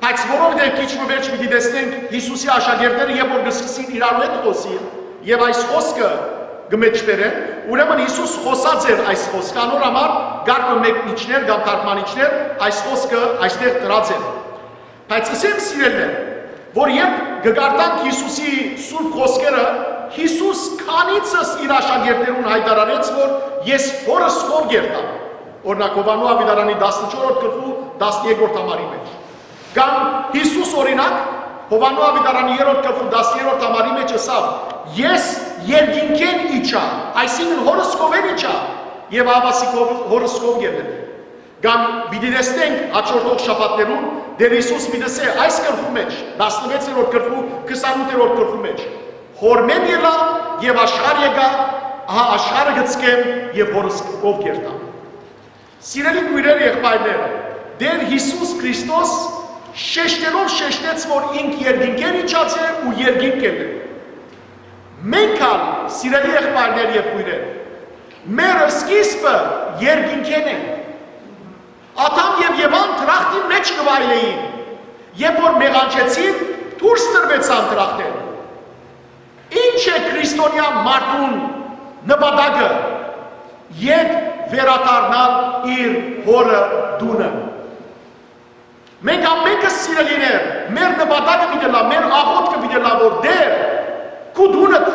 Բայց որովհետեւ քիչ մը վերջ պիտի տեսնենք Յիսուսի աշակերտները, երբ որ կը սկսին իրարու հետ խօսիլ եւ այս խօսքը կը մեջբերեն, ուրեմն Յիսուս խօսած էր այս խօսքը, անոր համար կարգ մը մէկ միջներ կամ թարգմանիչներ այս խօսքը այստեղ դրած են։ Բայց ըսեմ, սիրելիներ, որ երբ կը կարդանք Յիսուսի սուրբ խօսքերը, Յիսուս քանիցս իր աշակերտներուն յայտարարեց, որ «Ես Հօրս քով կ'երթամ»։ Օրինակ, Յովհաննու աւետարանի տասնչորսերորդ գլխու տասներկրորդ համարի մեջ։ Կամ Յիսուս, օրինակ, Յովհաննու աւետարանի երրորդ գլխու տասներորդ համարի մեջ ըսաւ. «Ես երկինքէն իջայ», այսինքն Հօրս քովէն իջայ, եւ ահա սիկ Հօ-, Հօրս քով կ'երթեմ։ Կամ պիտի տեսնենք հաջորդող շաբաթներուն, Տէր Յիսուս պիտի ըսէ այս գլխու մեջ, տասնվեցերորդ գլխու, քսանութերորդ գլխու մեջ. «Հօրմէն ելայ եւ աշխարհ եկայ, ահա աշխարհը կցկեմ եւ Հօրս քով կ'երթամ»։ Սիրելի քոյրեր, եղբայրներ, Տէր Յիսուս Քրիստոս շեշտելով շեշտեց, որ ինք երկինքէն իջած է ու երկինք կ'ելլէ։ Մենք ալ, սիրելի եղբայրներ եւ քոյրեր, մեր սկիզբը երկինքէն է։ Ադամ եւ Եվան դրախտին մեջ կը վայելէին, երբ որ մեղանչեցին, դուրս տրուեցան դրախտէն։ Ի՞նչ է քրիստոնեայ մարդուն նպատակը, ետ վերադառնալ իր հօրը տունը։ Մենք ամենքս, սիրելիներ, մեր նպատակը պիտի լա, մեր աղոթքը պիտի լա, որ Տէր, քու տունդ,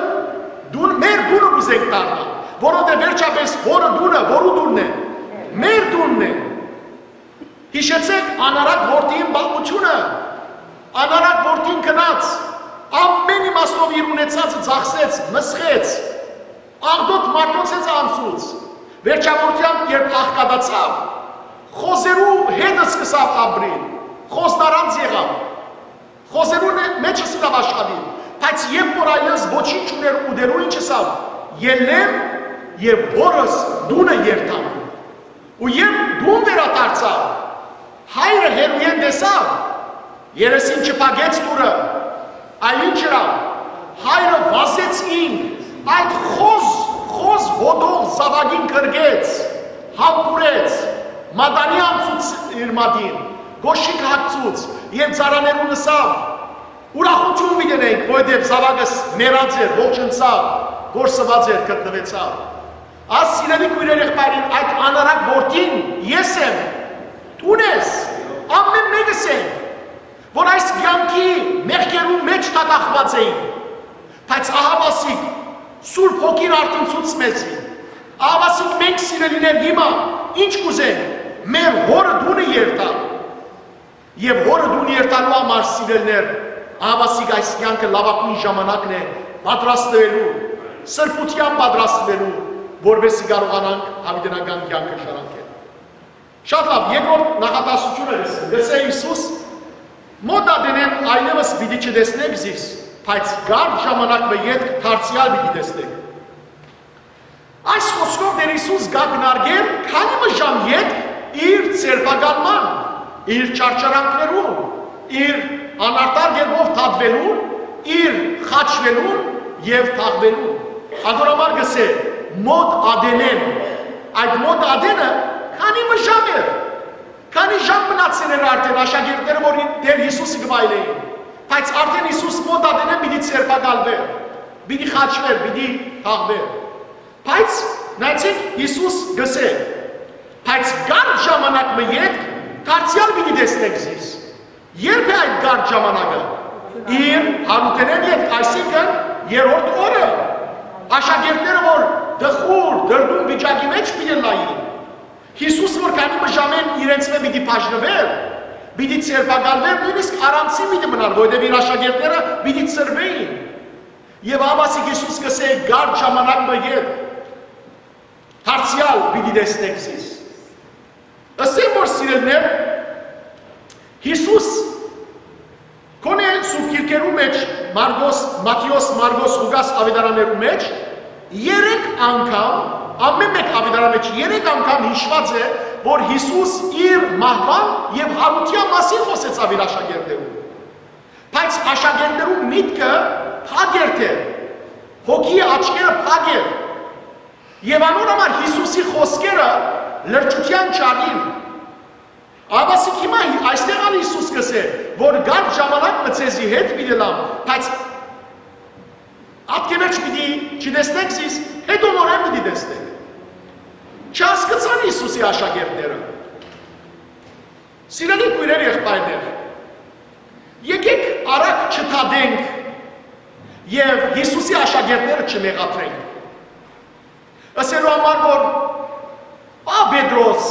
դուն, մեր տունը կ'ուզենք դառնալ, որովհետեւ վերջապէս հօրը տունը, որու տունն է, մեր տունն է։ Յիշեցեք անարատ որդիին պատմութիւնը, անարատ որդին գնաց, ամէն իմաստով իր ունեցածը ծախսեց, մսխեց, աղտոտ մարդոց հետ անցուց, վերջավորութեան երբ աղքատացաւ, խոզերու հետ սկսաւ ապրիլ, խոզնարանձ եղաւ, խոզերու նե-, մեջ սկսաւ աշխատիլ, բայց երբ որ այլևս ոչինչ ուներ ուտելու, ինչ ըսավ, «Ելլեմ եւ հօրս տունը երթամ»։ Ու երբ տուն վերադարձաւ, հայրը հեռուէն տեսաւ, երեսին չփակեց դուռը, այլ ինչ ըրաւ, հայրը վազեց ինք, այդ խոզ, խոզ հոտող զաւակին կրկեց, համբուրեց, մատանի անցուց իր մատին, կոշիկ հագցուց եւ ծառաներուն ըսաւ, «Ուրախութիւն պիտի ունենք, որովհետեւ զաւակս մեռած էր, ողջնցաւ, կորսուած էր, գտնուեցաւ»։ Աս, սիրելի քոյրեր, եղբայրեր, այդ անարակ որդին ես եմ, դուն ես, ամէն մեկս ենք, որ այս կեանքի մեղքերուն մեջ դատախված էինք, բայց ահավասիկ Սուրբ Հոգին արդինցուց մեզի, ահավասիկ մենք, սիրելիներ, հիմա ինչ կուզենք, մեր հօրը տունը երթալ։ Եւ հօրը տուն երթալու համար, սիրելիներ, ահավասիկ այս կեանքը լաւագույն ժամանակն է պատրաստվելու, սրբութեան պատրաստվելու, որպեսզի կարողանանք յաւիտենական կեանքը շարունակել։ Շատ լաւ, երկրորդ նախադասությունը լսեմ, լսե Յիսուս. «Մոտ ատենէն այլեւս պիտի չտեսնեք զիս, բայց կարճ ժամանակ մը ետք դարձեալ պիտի տեսնեք»։ Այս խօսքով Տէր Յիսուս կ'ակնարկէր քանի մը ժամ ետք իր ձերբակալման, իր չարչարանքներուն, իր անարդար կերպով դատուելուն, իր խաչուելուն եւ թաղուելուն։ Ատոր համար կ'ըսէ մօտ ատենէն։ Այդ մօտ ատենը քանի մը ժամ էր, քանի ժամ մնացեր էր արդէն աշակերտները, որ Տէր Յիսուսը կը վայելէին, բայց արդէն Յիսուս մօտ ատենէն պիտի ձերբակալուէր, պիտի խաչուէր, պիտի թաղուէր։ Բայց նայեցէք, Յիսուս կ'ըսէ. «Բայց կարճ ժամանակ մը ետք դարձեալ պիտի տեսնէք զիս»։ Ե՞րբ է այդ կարճ ժամանակը։ Իր յարութենէն ետք, այսինքն՝ երրորդ օրը։ Աշակերտները, որ տխուր, դրդում վիճակի մէջ պիտի ըլլային, Յիսուս, որ քանի մը ժամէն իրենցմէ պիտի բաժնուէր, պիտի ձերբակալուէր, նոյնիսկ առանցին պիտի մնար, որովհետեւ իր աշակերտները պիտի ցրուէին։ Եւ ահա Յիսուս կ'ըսէ. «Կարճ ժամանակ մը ետք դարձեալ պիտի տեսնէք զիս»։ Ըսեմ, որ, սիրելիներ, Յիսուս գոնէ Սուրբ Գիրքերու մէջ, Մարկոս, Մատթէոս, Մարկոս, Ղուկաս աւետարաններու մէջ երեք անգամ, ամէն մէկ աւետարանին մէջ երեք անգամ յիշուած է, որ Յիսուս իր մահուան եւ յարութեան մասին խօսեցաւ իր աշակերտներուն։ Բայց աշակերտներու միտքը փակ էր դեռ, հոգիի աչքերը փակ էր։ Եւ անոր համար Յիսուսի խօսքերը լրջութեան չառին։ Ահա հիմա հի-, այստեղ ալ Յիսուս կ'ըսէ, որ «Կարճ ժամանակ մը ձեզի հետ պիտի ըլլամ, բայց ատկէ վերջ պիտի չտեսնէք զիս, հետո նորէն պիտի տեսնէք»։ Չհասկցան Յիսուսի աշակերտները։ Սիրելի քոյրեր, եղբայրներ, եկէք արագ չդատենք եւ Յիսուսի աշակերտները չմեղադրենք։ Ըսելու համար, որ ա Պետրոս,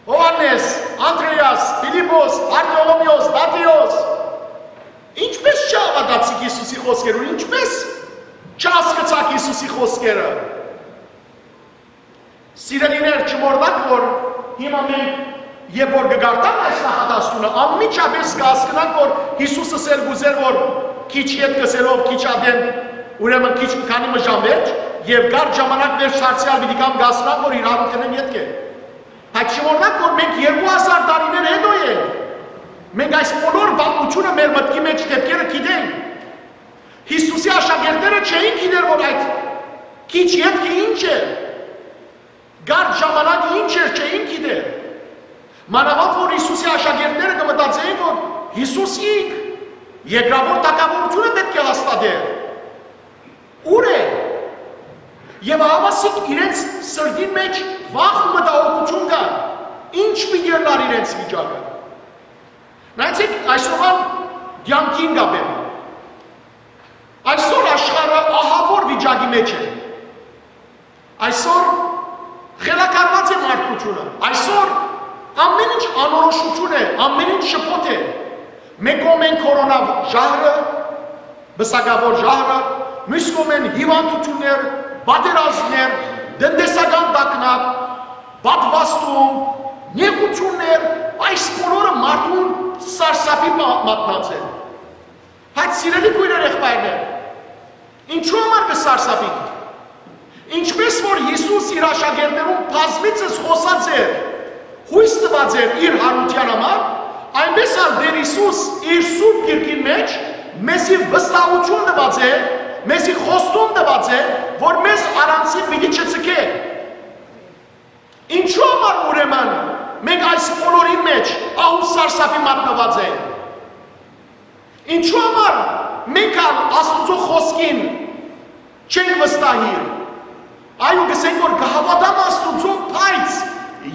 Յովհաննէս, Անդրէաս, Փիլիպպոս, Բարթոլոմէոս, Մատթէոս, ինչպէս չհաւատացիք Յիսուսի խօսքերուն, ինչպէս չհասկցաք Յիսուսի խօսքերը։ Սիրելիներ, չմոռնաք, որ հիմա մենք, երբ որ կկարդանք այս նախադասությունը, անմիջապէս կ'հասկնանք, որ Յիսուս ըսել կ'ուզէր, որ քիչ ետք ըսելով, քիչ ատեն, ուրեմն քիչ, քանի մը ժամ վերջ, եւ կարճ ժամանակ վերջ դարձեալ պիտի գամ, կ'հասկնանք, որ իր յարութենէն ետք է։ Բայց չմոռնաք, որ մենք երկու հազար տարիներ հետո ենք։ Մենք այս բոլոր պատմութիւնը մեր մտքի մէջ դէպքերը գիտենք։ Յիսուսի աշակերտները չէին գիտեր, որ այդ քիչ ետքը ինչ է, կարճ ժամանակը ինչ էր, չէին գիտեր։ Մանաւանդ որ Յիսուսի աշակերտները կը մտածէին, որ Յիսուս ինք երկրաւոր թագաւորութիւնը պէտք է հաստատէր։ Ո՞ւր է։ Եւ ահա իրենց սրտին մէջ վախ ու մտահոգութիւն կար, ինչ պիտի ըլլար իրենց վիճակը։ Նայեցեք այսօրվան կեանքին կապեն։ Այսօր աշխարհը ահաւոր վիճակի մէջ է։ Այսօր խելագարուած է մարդկությունը։ Այսօր ամեն ինչ անորոշութիւն է, ամեն ինչ շփոթ է։ Մէկ կողմէն կորոնա ժահրը, պսակաւոր ժահրը, միւս կողմէն հիւանդութիւններ, պատերազմներ, տնտեսական տագնապ, պատվաստում, նեղութիւններ, այս բոլորը մարդուն սարսափի մա-, մատնած է։ Բայց, սիրելի քոյրեր, եղբայրներ, ինչու համար կը սարսափինք։ Ինչպէս որ Յիսուս իր աշակերտներուն բազմիցս խօսած էր, յոյս տուած էր իր յարութեան համար, այնպէս ալ Տէր Յիսուս իր Սուրբ Գիրքին մէջ մեզի վստահութիւն տուած է, մեզի խոստում տուած է, որ մեզ առանցին պիտի չցկէ։ Ինչու համար, ուրեմն, մենք այս բոլորի մէջ ահ ու սարսափի մատնուած ենք։ Ինչու համար մենք ալ Աստուծոյ խօսքին չենք վստահիր։ Այո, կ'ըսենք, որ կը հաւատամ Աստուծոյ, բայց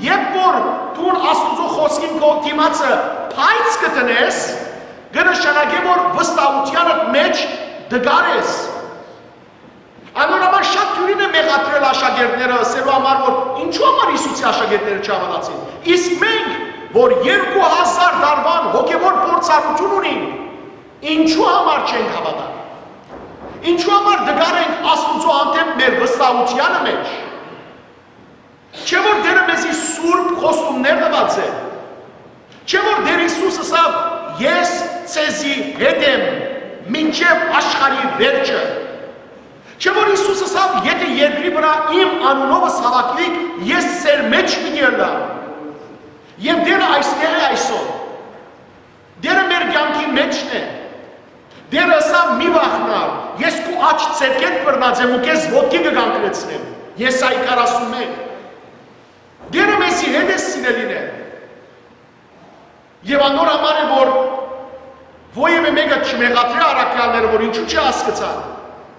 երբ որ դուն Աստուծոյ խօսքին քո դիմացը բայց կը դնես, կը նշանակէ, որ վստահութեանդ մէջ տկար ես։ Անոր համար շատ դիւրին է մեղադրել աշակերտները, ըսելու համար, որ ինչու համար Յիսուսի աշակերտները չհաւատացին։ Իսկ մենք, որ երկու հազար տարուան հոգեւոր փորձառութիւն ունենք, ինչու համար չենք հաւատար։ Ինչու համար տկար ենք Աստուծոյ հանդէպ մեր վստահութեանը մէջ։ Չէ՞ որ Տէրը մեզի սուրբ խոստումներ տուած է։ Չէ՞ որ Տէր Յիսուս ըսաւ. «Ես ձեզի հետ եմ մինչեւ աշխարհի վերջը»։ Չէ՞ որ Յիսուս ըսաւ. «Եթէ երկրի վրայ իմ անունովս հաւաքուիք, ես ձեր մէջ պիտի ըլլամ»։ Եւ Տէրը այստեղ է այսօր։ Տէրը մեր կեանքի մէջն է։ Տէրը ըսաւ. «Մի վախնար, ես քու աջ ձեռքէդ բռնած եմ ու քեզ ոտքի կը կանգնեցնեմ»։ Եսայի քառասունմեկ։ Տէրը մեզի հետ է, սիրելիներ։ Եւ անոր համար է, որ որեւէ մէկը չմեղադրէ առաքեալները, որ ինչու՞ չի հասկցան։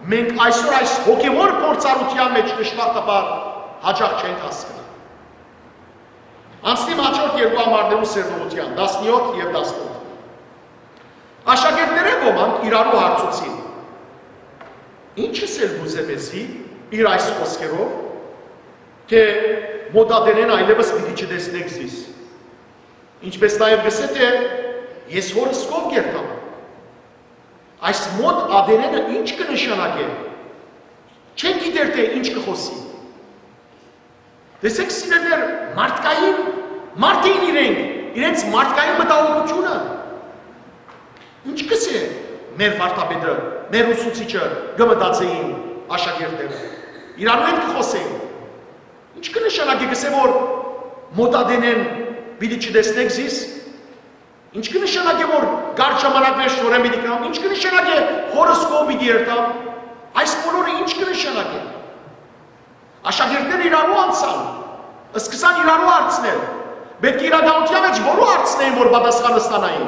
Մենք այսօր այս հոգեվոր փորձառութեան մէջ, դժբախտաբար, յաճախ չենք հասկնար։ Անցնիմ հաջորդ երկու ամառներու սերտողութեան, տասնյոթ եւ տասնութ։ Աշակերտներէն ոմանք իրարու հարցուցին. «Ի՞նչ ըսել կ'ուզէ մեզի իր այս խօսքերով, թէ մօտատենէն այլեւս պիտի չտեսնէք զիս»։ Ինչպէս նաեւ կ'ըսէ, թէ «Ես հօրս քով կ'երթամ»։ Այս մօտատենէնը ի՞նչ կը նշանակէ։ Չեն գիտեր, թէ ինչ կը խօսի։ Տեսեք, սիրելիներ, մարդկային, մարդ էին իրենք, իրենց մարդկային մտահոգութիւնը։ Ինչ կ'ըսէ մեր վարդապետը, մեր ուսուցիչը, կը մտածէին աշակերտները։ Իրարու հետ կը խօսէին։ Ինչ կը նշանակէ, կ'ըսէ, որ մօտատենէն պիտի չտեսնէք զիս։ Ինչ կը նշանակէ, որ կարճ ժամանակ մէջ շորեն պիտի գամ։ Ինչ կը նշանակէ, հօրս քով պիտի երթամ։ Այս բոլորը ինչ կը նշանակէ։ Աշակերտները իրարու անցան, սկսան իրարու հարցնել։ Պէտք է իրականութեան մէջ որու հարցնեին, որ պատասխանը ստանային։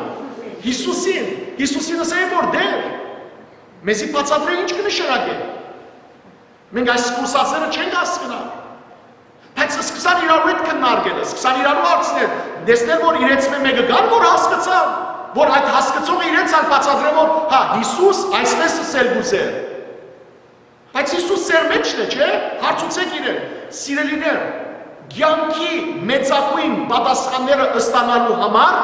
Յիսուսին։ Յիսուսին ըսէին, որ Տէր, մեզի բացատրէ, ինչ կը նշանակէ։ Մենք այս կուրսացները չենք հասկնար։ Բայց սկսան իրարու հետ քննարկել, սկսան իրարու հարցնել, տեսնել, որ իրենց մէ մէկը կար, որ հասկցաւ, որ այդ հասկցողը իրենց ալ բացատրէ, որ հա, Յիսուս այսպես ըսել կ'ուզէր։ Բայց Յիսուս ձեր մէջն է, չէ՞։ Հարցուցէք իրեն, սիրելիներ, կեանքի մեծագոյն պատասխանները ստանալու համար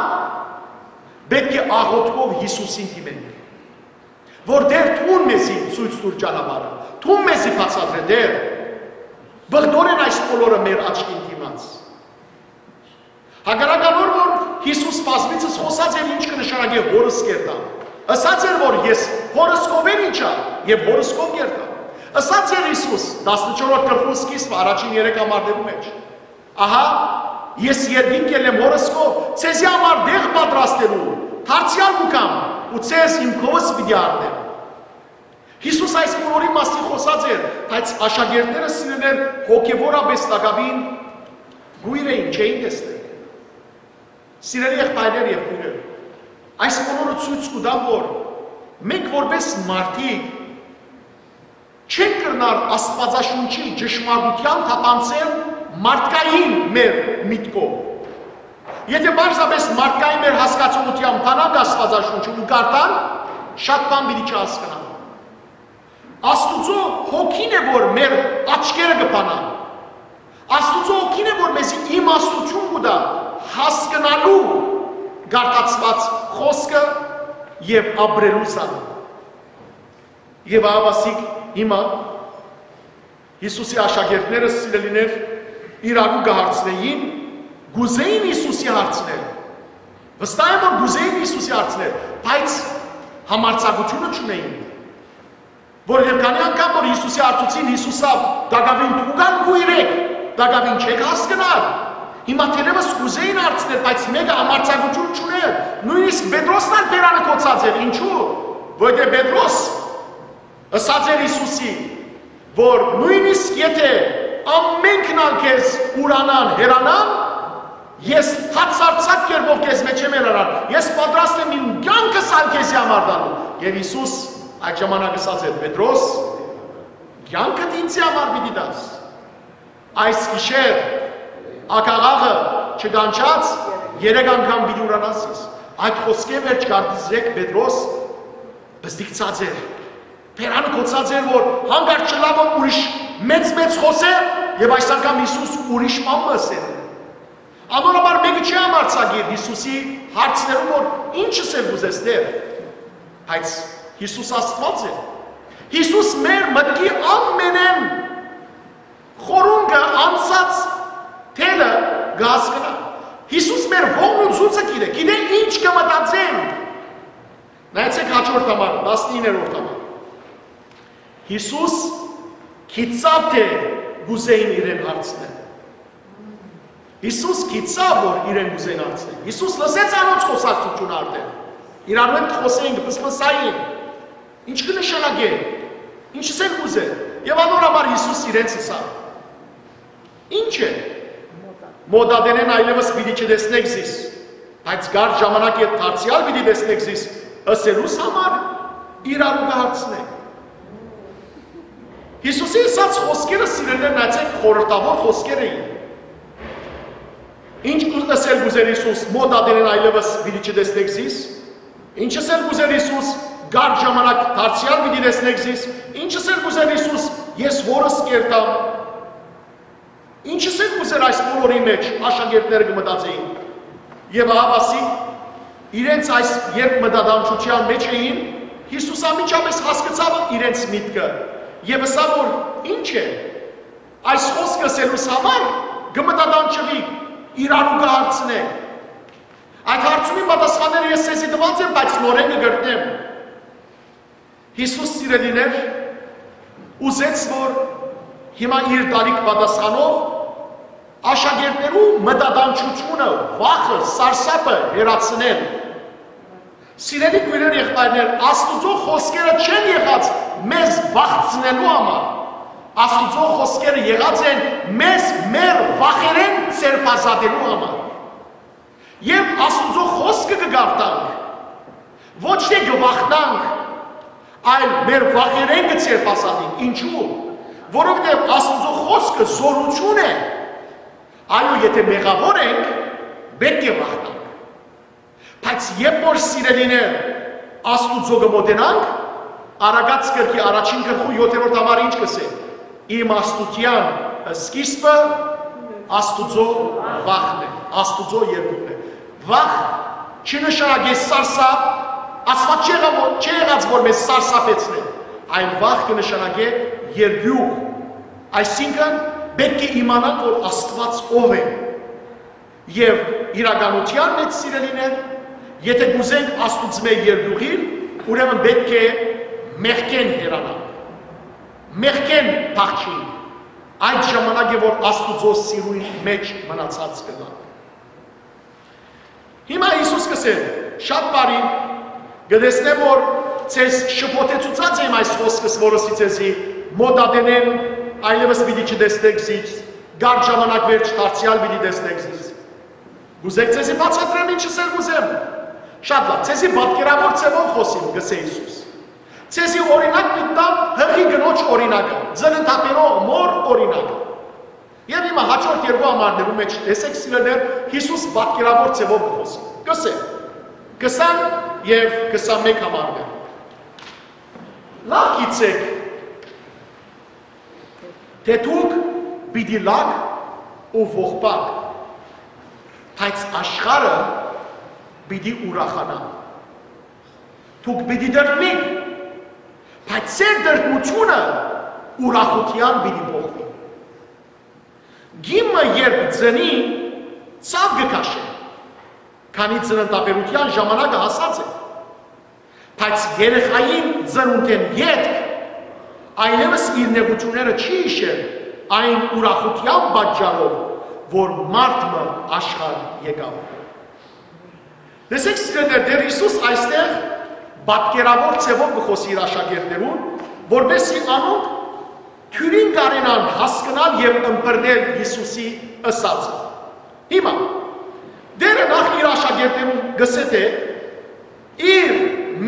պէտք է աղօթքով Յիսուսին դիմենք, որ Տէր, դուն մեզի ցոյց տուր ճանապարհը, դուն մեզի բացատրէ, Տէր։ Բղտորեն այս բոլորը մեր աչքին դիմաց։ Հակառակ անոր, որ Յիսուս բազմիցս խօսած էր, ինչ կը նշանակէ հօրս կ'երթամ։ Ըսած էր, որ ես հօրս քով եմ իջայ եւ հօրս քով կ'երթամ։ Ըսած էր Յիսուս, տասնչորսերորդ գլխու սկիզբը, առաջին երեք ամառներու մէջ. «Ահա, ես երկինք ելլեմ հօրս քով, ձեզի համար տեղ պատրաստելու, դարձեալ կու գամ ու ձեզ իմ քովս պիտի առնեմ»։ Յիսուս այս բոլորի մասին խօսած էր, բայց աշակերտները, սիրելիներ, հոգեվորապէս տակաւին կոյր էին, չէին տեսներ։ Սիրելի եղբայրներ եւ քոյրեր, այս բոլորը ցոյց կու տայ, որ մենք որպէս մարդիկ չենք կրնար Աստուածաշունչի ճշմարտութեան թափանցել մարդկային մեր միտքով։ Եթէ պարզապէս մարդկային մեր հասկացողութեան բանանք Աստուածաշունչը ու կարդանք, շատ բան պիտի չհասկնանք։ Աստուծոյ հոգին է, որ մեր աչքերը կը բանան։ Աստուծոյ հոգին է, որ մեզի իմաստութիւն կու տայ հասկնալու կարդացուած խօսքը եւ ապրելու զանոնք։ Եւ ահա ասիկ հիմա Յիսուսի աշակերտները, սիրելիներ, իրարու կը հարցնէին, կ'ուզէին Յիսուսի հարցնել։ Վստահ եմ, որ կ'ուզէին Յիսուսի հարցնել, բայց համարձակութիւնը չունէին։ Որովհետեւ քանի՞ անգամ որ Յիսուսի հարցուցին, Յիսուս ըսաւ. «Տակաւին դուք ալ կոյր էք, տակաւին չէք հասկնար»։ Հիմա թերեւս կ'ուզէին հարցնել, բայց մէկը համարձակութիւն չունէր։ Նոյնիսկ Պետրոսն ալ բերանը գոցած էր։ Ինչու՞։ Որովհետեւ Պետրոս ըսած էր Յիսուսի, որ նոյնիսկ եթէ ամենքն ալ քեզ ուրանան, հեռանան, ես հացարձակ կերպով քեզ մէջ չեմ հեռանար, ես պատրաստ եմ իմ կեանքս ալ քեզի համար տալու։ Եւ Յիսուս այդ ժամանակ ըսած էր. «Պետրոս, կեանքդ ինձի համար պիտի տաս։ Այս գիշեր ակաղաղը չկանչած, երեք անգամ պիտի ուրանաս ինձ»։ Այդ խօսքէն վերջ կարծեցեք Պետրոս պզտիկցած էր, բերանը գոցած էր, որ հանկարծ չլայ որ ուրիշ մեծ-մեծ խօսեր եւ այս անգամ Յիսուս ուրիշ բան մը ըսեր։ Անոր համար մէկը չի համարձակիր Յիսուսի հարցներուն, որ ի՞նչ ըսել կ'ուզես, Տէր։ Բայց Յիսուս Աստուած է։ Յիսուս մեր մտքի ամենէն խորունկը, անցած թելը կը հասկնայ։ Յիսուս մեր ողն ու ցուցը գիտէ, գիտէ ինչ կը մտածենք։ Նայեցեք հաջորդ համար, տասնիններորդ համար։ Յիսուս գիտցաւ թէ կ'ուզէին իրեն հարցնել։ Յիսուս գիտցաւ որ իրեն կ'ուզեն հարցնել։ Յիսուս լսեց անոնց խօսակցութիւնը արդէն։ Իրարու հետ կը խօսէին, կը պսպսային։ Ի՞նչ կը նշանակէ։ Ի՞նչս են կ'ուզեն։ Եւ անոր համար Յիսուս իրենց ըսաւ. «Ի՞նչ է։ Մօտ ատենէն այլեւս պիտի չտեսնէք զիս, բայց կար ժամանակ երբ դարձեալ պիտի տեսնէք զիս», ըսելուս համար իրարու կը հարցնէ։ Յիսուսի ըսած խօսքերը, սիրելիներ, նայեցէք, խորհրդաւոր խօսքեր էին։ Ի՞նչ կու-, ըսել կ'ուզէր Յիսուս. «Մօտ ատենէն այլեւս պիտի չտեսնէք զիս»։ Ի՞նչ ըսել կ'ուզէր Յիսուս. «Կար ժամանակ դարձեալ պիտի տեսնէք զիս»։ Ի՞նչ ըսել կ'ուզէր Յիսուս. «Ես հօրս կ'երթամ»։ Ի՞նչ ըսել կ'ուզէր այս բոլորի մէջ, աշակերտները կը մտածէին։ Եւ ահա ասիկ, իրենց այս երբ մտադանչութեան մէջ էին, Յիսուս անմիջապէս հասկցաւ իրենց միտքը եւ ըսաւ որ. «Ի՞նչ է։ Այս խօսքը ըսելուս համար կը մտադանչուիք, իրարու կը հարցնէք»։ Այդ հարցումին պատասխանները ես ձեզի տուած եմ, բայց նորէն կը կրկնեմ։ Յիսուս, սիրելիներ, ուզեց որ հիմա իր դալիք պատասխանով աշակերտներու մտադանչութիւնը, վախը, սարսափը հեռացնել։ Սիրելի քոյրեր, եղբայրներ, Աստուծոյ խօսքերը չեն եղած մեզ վախցնելու համար։ Աստուծոյ խօսքերը եղած են մեզ մեր վախերէն ձերբազատելու համար։ Երբ Աստուծոյ խօսքը կը կարդանք, ոչ թէ կը վախնանք, այլ մեր վախերէն կը ձերբազատենք։ Ինչու՞։ Որովհետեւ Աստուծոյ խօսքը զօրութիւն է։ Այո, եթէ մեղաւոր ենք, պէտք է վախնանք։ Բայց երբ որ, սիրելիներ, Աստուծոյ կը մօտենանք, Առակաց գրքի առաջին գլխու յոթերորդ համար ինչ կ'ըսէ։ Իմաստութեան սկիզբը Աստուծոյ վախն է, Աստուծոյ երկուքն է։ Վախ չի նշանակի սարսափ, Աստուած չի եղած որ, չի եղած որ մեզ սարսափեցնէ, այլ վախ կը նշանակէ երկուք, այսինքն պէտք է իմանանք որ Աստուած ով է։ Եւ իրականութեան մէջ, սիրելիներ, եթէ կ'ուզենք Աստուծմէ երկուղիլ, ուրեմն պէտք է մեղքէն հեռանանք, մեղքէն փախչինք, այդ ժամանակ է որ Աստուծոյ սիրոյն մէջ մնացած կ'ըլլանք։ Հիմա Յիսուս կ'ըսէ. «Շատ բարի, կը տեսնեմ որ ձեզ շփոթեցուցած եմ այս խօսքս որ ըսի ձեզի. "Մօտ ատենէն այլեւս պիտի չտեսնէք զիս, կար ժամանակ վերջ դարձեալ պիտի տեսնէք զիս"։ Կ'ուզէք ձեզի բացատրեմ ինչ ըսել կ'ուզեմ։ Շատ լավ, ձեզի պատկերաւոր ձեւով խօսիմ, կ'ըսէ Յիսուս։ Ձեզի օրինակ մտամ, հղի կնոջ օրինակը, ծննդաբերող մօր օրինակը։ Եւ հիմա հաջորդ երկու համարներու մէջ տեսեք, սիրելիներ, Յիսուս պատկերաւոր ձեւով կը խօսի։ Կ'ըսէ. քսան եւ քսանմէկ համարներ։ Լավ գիտցէք, թէ դուք պիտի լաք ու ողբակ, բայց աշխարհը պիտի ուրախանայ։ Դուք պիտի տրտմիք, բայց ձեր տրտմութիւնը ուրախութեան պիտի փոխուի։ Կին մը երբ ծնի, ցաւ կը քաշէ, քանի ծննդաբերութեան ժամանակը հասած է, բայց երեխային ծնունդէն ետք այլեւս իր նեղութիւնները չի յիշեր այն ուրախութեան պատճառով, որ մարդ մը աշխարհ եկաւ։ Տեսեք, սիրելիներ, Տէր Յիսուս այստեղ պատկերաւոր ձևով կը խօսի իր աշակերտներուն, որպեսզի անոնք թիւրին կարենան հասկնալ եւ ըմբռնել Յիսուսի ըսածը։ Հիմա, Տէրը նախ իր աշակերտներուն կ'ըսէ, թէ իր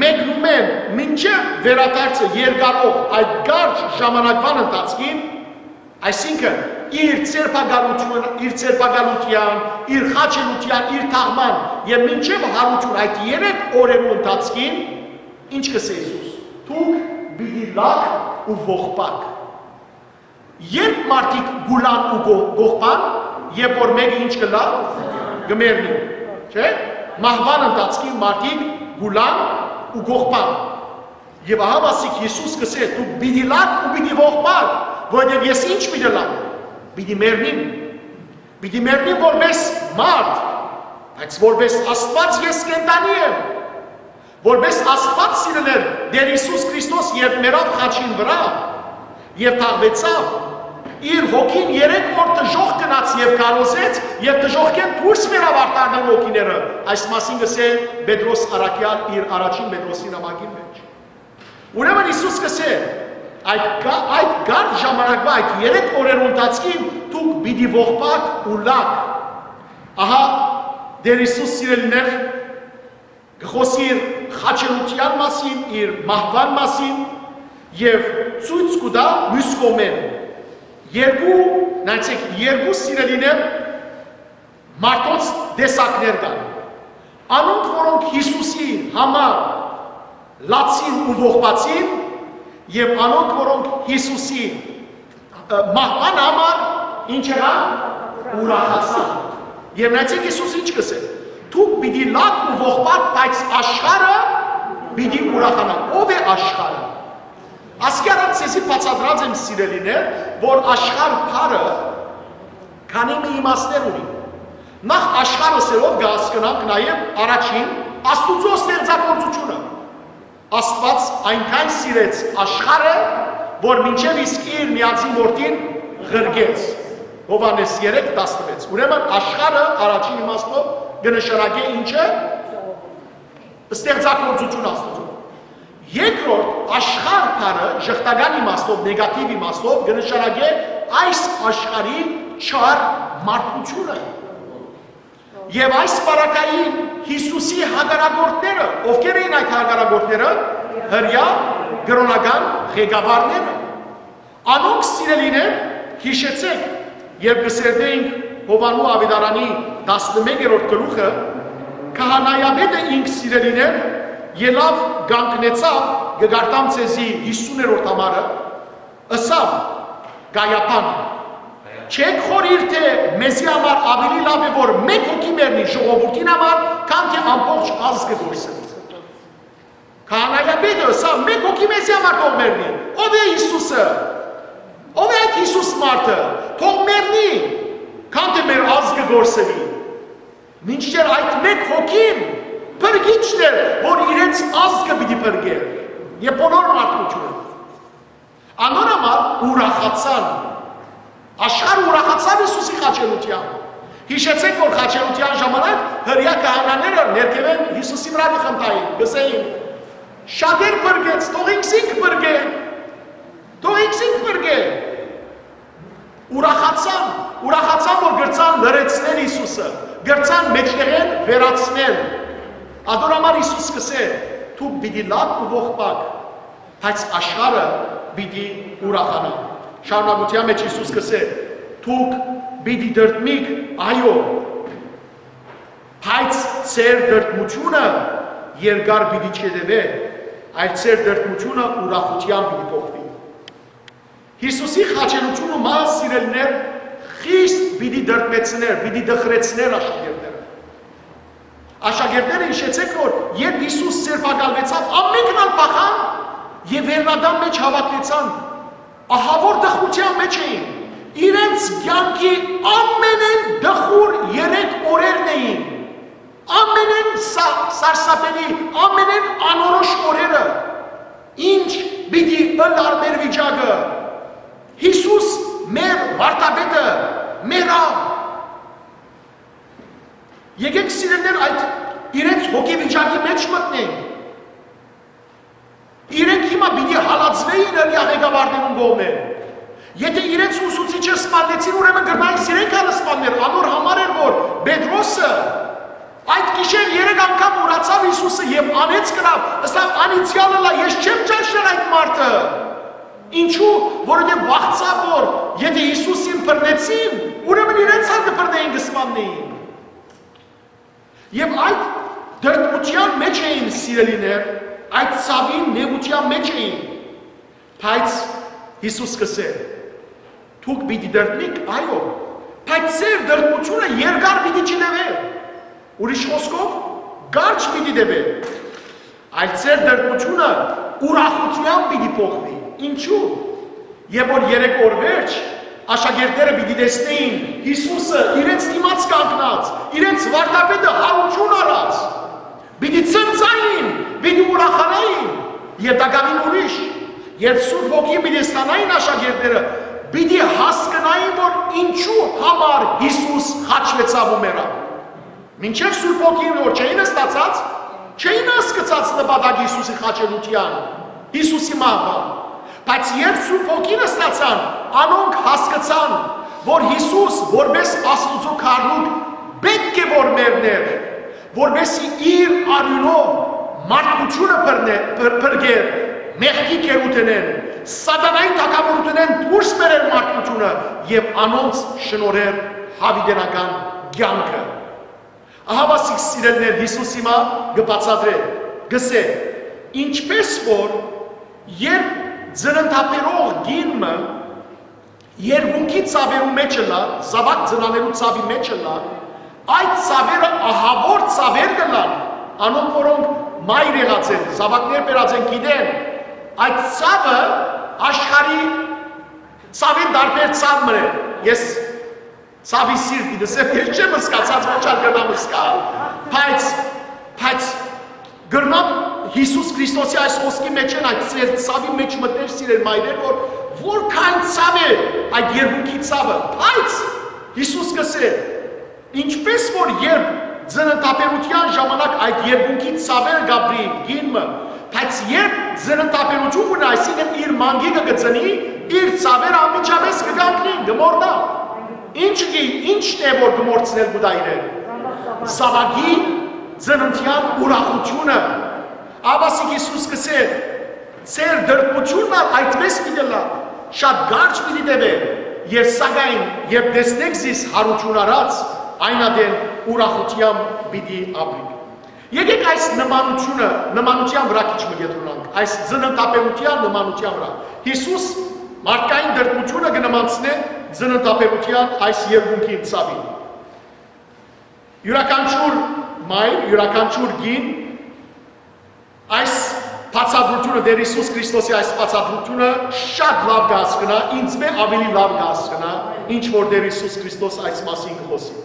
մեկնումէն մինչեւ վերադարձը երկարող այդ կարճ ժամանակվան ընթացքին, այսինքն իր ձերբակալութիւն-, իր ձերբակալութեան, իր խաչելութեան, իր թաղման եւ մինչեւ յարութիւն այդ երեք օրերու ընթացքին, ինչ կ'ըսէ Յիսուս. «Դուք պիտի լաք ու ողբակ»։ Երբ մարդիկ կ'ուլան ու կո-, կողբան, երբ որ մէկը ինչ կ'ըլլայ, կը մեռնի, չէ՞։ Մահուան ընթացքին մարդիկ կ'ուլան ու կողբան։ Եւ ահա ասիկ Յիսուս կ'ըսէ. «Դուք պիտի լաք ու պիտի ողբաք, որովհետեւ ես ինչ պիտի լամ, պիտի մեռնիմ, պիտի մեռնիմ որպես մարդ, բայց որպես Աստուած ես կենդանի եմ»։ որպէս Աստուած սիրելեր, Տէր Յիսուս Քրիստոս երբ մեռաւ խաչին վրայ եւ թաղուեցաւ, իր հոգին երեք օր դժոխք գնաց եւ քարոզեց, եւ դժոխքէն դուրս մեռաւ արդարներու հոգիները։ Այս մասին կ'ըսէ Պետրոս առաքեալ իր առաջին Պետրոսին նամակին մէջ։ Ուրեմն Յիսուս կ'ըսէ, այդ կա-, այդ կարճ ժամանակվա, այդ երեք օրերու ընթացքին դուք պիտի ողբաք ու լաք։ Ահա Տէր Յիսուս, սիրելիներ, կը խօսի իր խաչելութեան մասին, իր մահուան մասին եւ ցոյց կու տայ միւս կողմէն երկու, նայեցեք, երկու սիրելիներ մարդոց տեսակներ կան։ Անոնք, որոնք Յիսուսի համար լացին ու ողբացին, եւ անոնք, որոնք Յիսուսի, ը, մահուան համար ինչ եղան, ուրախացան։ Եւ նայեցեք, Յիսուս ինչ կ'ըսէ. «Դուք պիտի լաք ու ողբաք, բայց աշխարհը պիտի ուրախանայ»։ Ո՞վ է աշխարհը։ Ասկի առաջ ձեզի բացատրած եմ, սիրելիներ, որ աշխարհ բառը քանի մը իմաստներ ունի։ Նախ, աշխարհ ըսելով կը հասկնանք նաեւ առաջին Աստուծոյ ստեղծագործութիւնը։ Աստուած այնքան սիրեց աշխարհը, որ մինչեւ իսկ իր միածին որդին ղրկեց։ Յովհաննէս երեք տասնվեց։ Ուրեմն աշխարհը առաջին իմաստով կը նշանակէ ինչը, ստեղծագործութիւն Աստուծոյ։ Երկրորդ, աշխարհ բառը ժխտական իմաստով, նեգատիվ իմաստով կը նշանակէ այս աշխարհի չար մարդկութիւնը։ Եւ այս պարագային Յիսուսի հակառակորդները, ովքեր էին այդ հակառակորդները, հրեա կրօնական ղեկավարները։ Անոնք, սիրելիներ, յիշեցէք, երբ կը սերտէինք Յովհաննու աւետարանի տասնմեկերորդ գլուխը, քահանայապետը ինք, սիրելիներ, ելաւ կանգնեցաւ, կը կարդամ ձեզի յիսուներորդ համարը, ըսաւ Կայապան. «Չէ՞ք խորհիր թէ մեզի համար աւելի լաւ է որ մէկ հոգի մեռնի ժողովուրդին համար, քան թէ ամբողջ ազգը կորսնի»։ Քահանայապետը ըսաւ. «Մէկ հոգի մեզի համար թող մեռնի»։ Ո՞վ է Յիսուսը։ Ո՞վ է այդ Յիսուս մարդը։ Թող մեռնի, քան թէ մեր ազգը կորսնի։ Մինչդեռ այդ մէկ հոգին փրկիչն էր, որ իրենց ազգը պիտի փրկէր եւ բոլոր մարդկութիւնը։ Անոր համար ուրախացան։ Աշխարհը ուրախացաւ Յիսուսի խաչելութեան։ Յիշեցէք, որ խաչելութեան ժամանակ հրեա քահանաները ներքեւէն Յիսուսի վրայ կը խնդային, կ'ըսէին. «Շատեր փրկեց, թող ինքզինք փրկէ, թող ինքզինք փրկէ»։ Ուրախացան, ուրախացան, որ կրցան լրացնել Յիսուսը, կրցան մէջտեղէն վերացնել։ Ատոր համար Յիսուս կ'ըսէ. «Դուք պիտի լաք ու ողբաք, բայց աշխարհը պիտի ուրախանայ»։ Շարունակութեան մէջ Յիսուս կ'ըսէ. «Դուք պիտի տրտմիք, այո, բայց ձեր տրտմութիւնը երկար պիտի չյետեւէ, այլ ձեր տրտմութիւնը ուրախութեան պիտի փոխուի»։ Յիսուսի խաչելութիւնը, մահը, սիրելիներ, խիստ պիտի տրտմեցնէր, պիտի տխրեցնէր աշակերտները։ Աշակերտները, յիշեցէք, որ երբ Յիսուս ձերբակալուեցաւ, ամէնքն ալ փախան եւ վերնատան մէջ հաւաքուեցան։ Ահաւոր տխրութեան մէջ էին։ Իրենց կեանքի ամենէն տխուր երեք օրերն էին։ Ամենէն սա-, սարսափելի, ամենէն անորոշ օրերը։ Ինչ պիտի ըլլար մեր վիճակը։ Յիսուս մեր վարդապետը մեռաւ։ Եկեք, սիրելիներ, այդ իրենց հոգեվիճակի մէջ մտնենք։ Իրենք հիմա պիտի հալածվէին հրեա ղեկավարներուն կողմէ։ Եթե իրենց ուսուցիչը սպաննեցին, ուրեմն կրնային իրենք ալ սպաններ, անոր համար էր, որ Պետրոսը այդ գիշեր երեք անգամ ուրացաւ Յիսուսը եւ անեծ կրաւ, ըսաւ. «Անիծեալ ըլլայ, ես չեմ ճանչնար այդ մարդը»։ Ինչու՞, որովհետեւ վախցաւ, որ եթե Յիսուսին բռնեցին, ուրեմն իրենց ալ կը բռնէին, կը սպաննէին։ Եւ այդ տրտմութեան մէջ էին, սիրելիներ, այդ ցաւին, նեղութեան մէջ էին։ Բայց Յիսուս կ'ըսէ. «Դուք պիտի տրտմիք, այո, բայց ձեր տրտմութիւնը երկար պիտի չտեւէ»։ Ուրիշ խօսքով, կարճ պիտի տեւէ, այլ ձեր տրտմութիւնը ուրախութեան պիտի փոխուի։ Ինչու՞։ Եւ որ երեք օր վերջ աշակերտները պիտի տեսնէին Յիսուսը իրենց դիմաց կանգնած, իրենց վարդապետը յարութիւն առած, պիտի ցնծային, Պիտի ուրախանային եւ տակաւին ուրիշ, երբ Սուրբ Հոգին պիտի ստանային աշակերտները, պիտի հասկնային, որ ինչու համար Յիսուս խաչուեցաւ ու մեռաւ։ Մինչեւ Սուրբ Հոգին որ չէին ստացած, չէին հասկցած նպատակ Յիսուսի խաչելութեան, Յիսուսի մահուան։ Բայց երբ Սուրբ Հոգին ստացան, անոնք հասկցան, որ Յիսուս որպէս Աստուծոյ գառնուկ պէտք է որ մեռնէր, որպէսզի իր արիւնով մարդկութիւնը բռնէ-, բր-, բրկէր մեղքի գերութենէն, սատանայի թագաւորութենէն դուրս բերէր մարդկութիւնը եւ անոնց շնորհէր յաւիտենական կեանքը։ Ահա ասիկ, սիրելիներ, Յիսուս հիմա կը բացատրէ, կ'ըսէ, ինչպէս որ երբ ծննդաբերող կին մը երկունքի ցաւերու մէջ ըլլայ, զաւակ ծնանելու ցաւի մէջ ըլլայ, այդ ցաւերը ահաւոր ցաւեր կ'ըլլան, անոնք, որոնք մայր եղած են, զաւակներ բերած են, գիտեն, այդ ցաւը աշխարհի ցաւին տարբեր ցաւ մը է։ Ես ցաւի սիրտի լսեմ, ես չեմ զգացած, ոչ ալ կրնամ զգալ, բայց, բայց կրնամ Յիսուս Քրիստոսի այս խօսքի մէջ են, այդ ծեր ցաւի մէջ մտնել, սիրել մայրեր, որ որքան ցաւ է այդ երկունքի ցաւը, բայց Յիսուս կ'ըսէ, ինչպէս որ երբ ծննդաբերութեան ժամանակ այդ երկունքի ցաւերը կ'ապրի կին մը, բայց երբ ծննդաբերութիւն կ'ունի, այսինքն իր մանկիկը կը ծնի, իր ցաւերը անմիջապէս կը կանգնին, կը մոռնայ։ Ինչ կի, ինչն է, որ կը մոռցնէ կու տայ իրեն։ Զաւակի ծննդեան ուրախութիւնը։ Աբասիկ Յիսուս կ'ըսէ, ձեր տրտմութիւնն ալ այդպէս պիտի ըլլայ, շատ կարճ պիտի տեւէ, եւ սակայն, երբ տեսնէք զիս յարութիւն առած, այն ատեն ուրախութեամբ պիտի ապրիք։ Եկեք այս նմանութիւնը, նմանութեան վրայ քիչ մը կեդրոնանք, այս ծննդաբերութեան նմանութեան վրայ։ Յիսուս մարդկային տրտմութիւնը կը նմանցնէ ծննդաբերութեան այս երկունքին ցաւին։ Յուրաքանչյուր մայր, յուրաքանչյուր կին այս բացատրութիւնը, Տէր Յիսուս Քրիստոսի այս բացատրութիւնը շատ լաւ կը հասկնայ, ինծմէ աւելի լաւ կը հասկնայ, ինչ որ Տէր Յիսուս Քրիստոս այս մասին կը խօսի։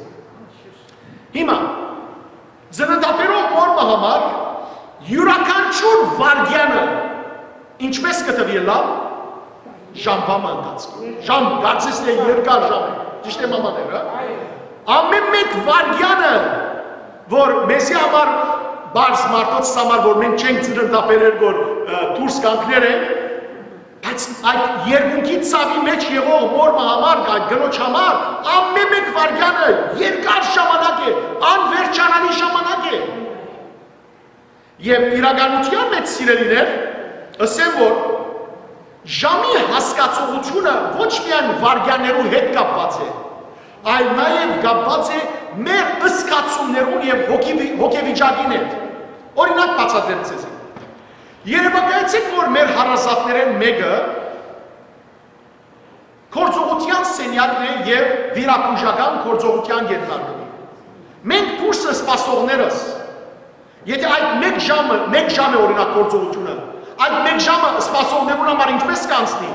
Հիմա, ծննդաբերող մօր մը համար յուրաքանչիւր վայրկեանը ինչպէս կը թուի ըլլալ, ժամուան մը ընթացքին։ Ժամ, կարծես թէ երկար ժամ է, ճիշդ է, մամաներ, հա՞։ Ամէն մէկ վայրկեանը, որ մեզի համար, պարզ մարդոց համար, որ մենք չենք ծննդաբերեր, որ, ը, դուրս կանգներ ենք, բայց այդ երկունքի ցաւի մէջ եղող մօր մը համար, այդ կնոջ համար, ամէն մէկ վայրկեանը երկար ժամանակ է, անվերջանալի ժամանակ է։ Եւ իրականութեան մէջ, սիրելիներ, ըսեմ, որ ժամի հասկացողութիւնը ոչ միայն վայրկեաններու հետ կապուած է, այլ նաեւ կապուած է մեր զգացումներուն եւ հոգի-, հոգեվիճակին հետ։ Օրինակ բացատրեմ ձեզի։ Երեւակայեցէք, որ մեր հարազատներէն մէկը գործողութեան սենեակն է եւ վիրաբուժական գործողութեան կ'ենթարկուի։ Մենք դուրսը սպասողներս, եթե այդ մէկ ժամը, մէկ ժամ է, օրինակ, գործողութիւնը, այդ մէկ ժամը սպասողներուն համար ինչպէս կանցնի։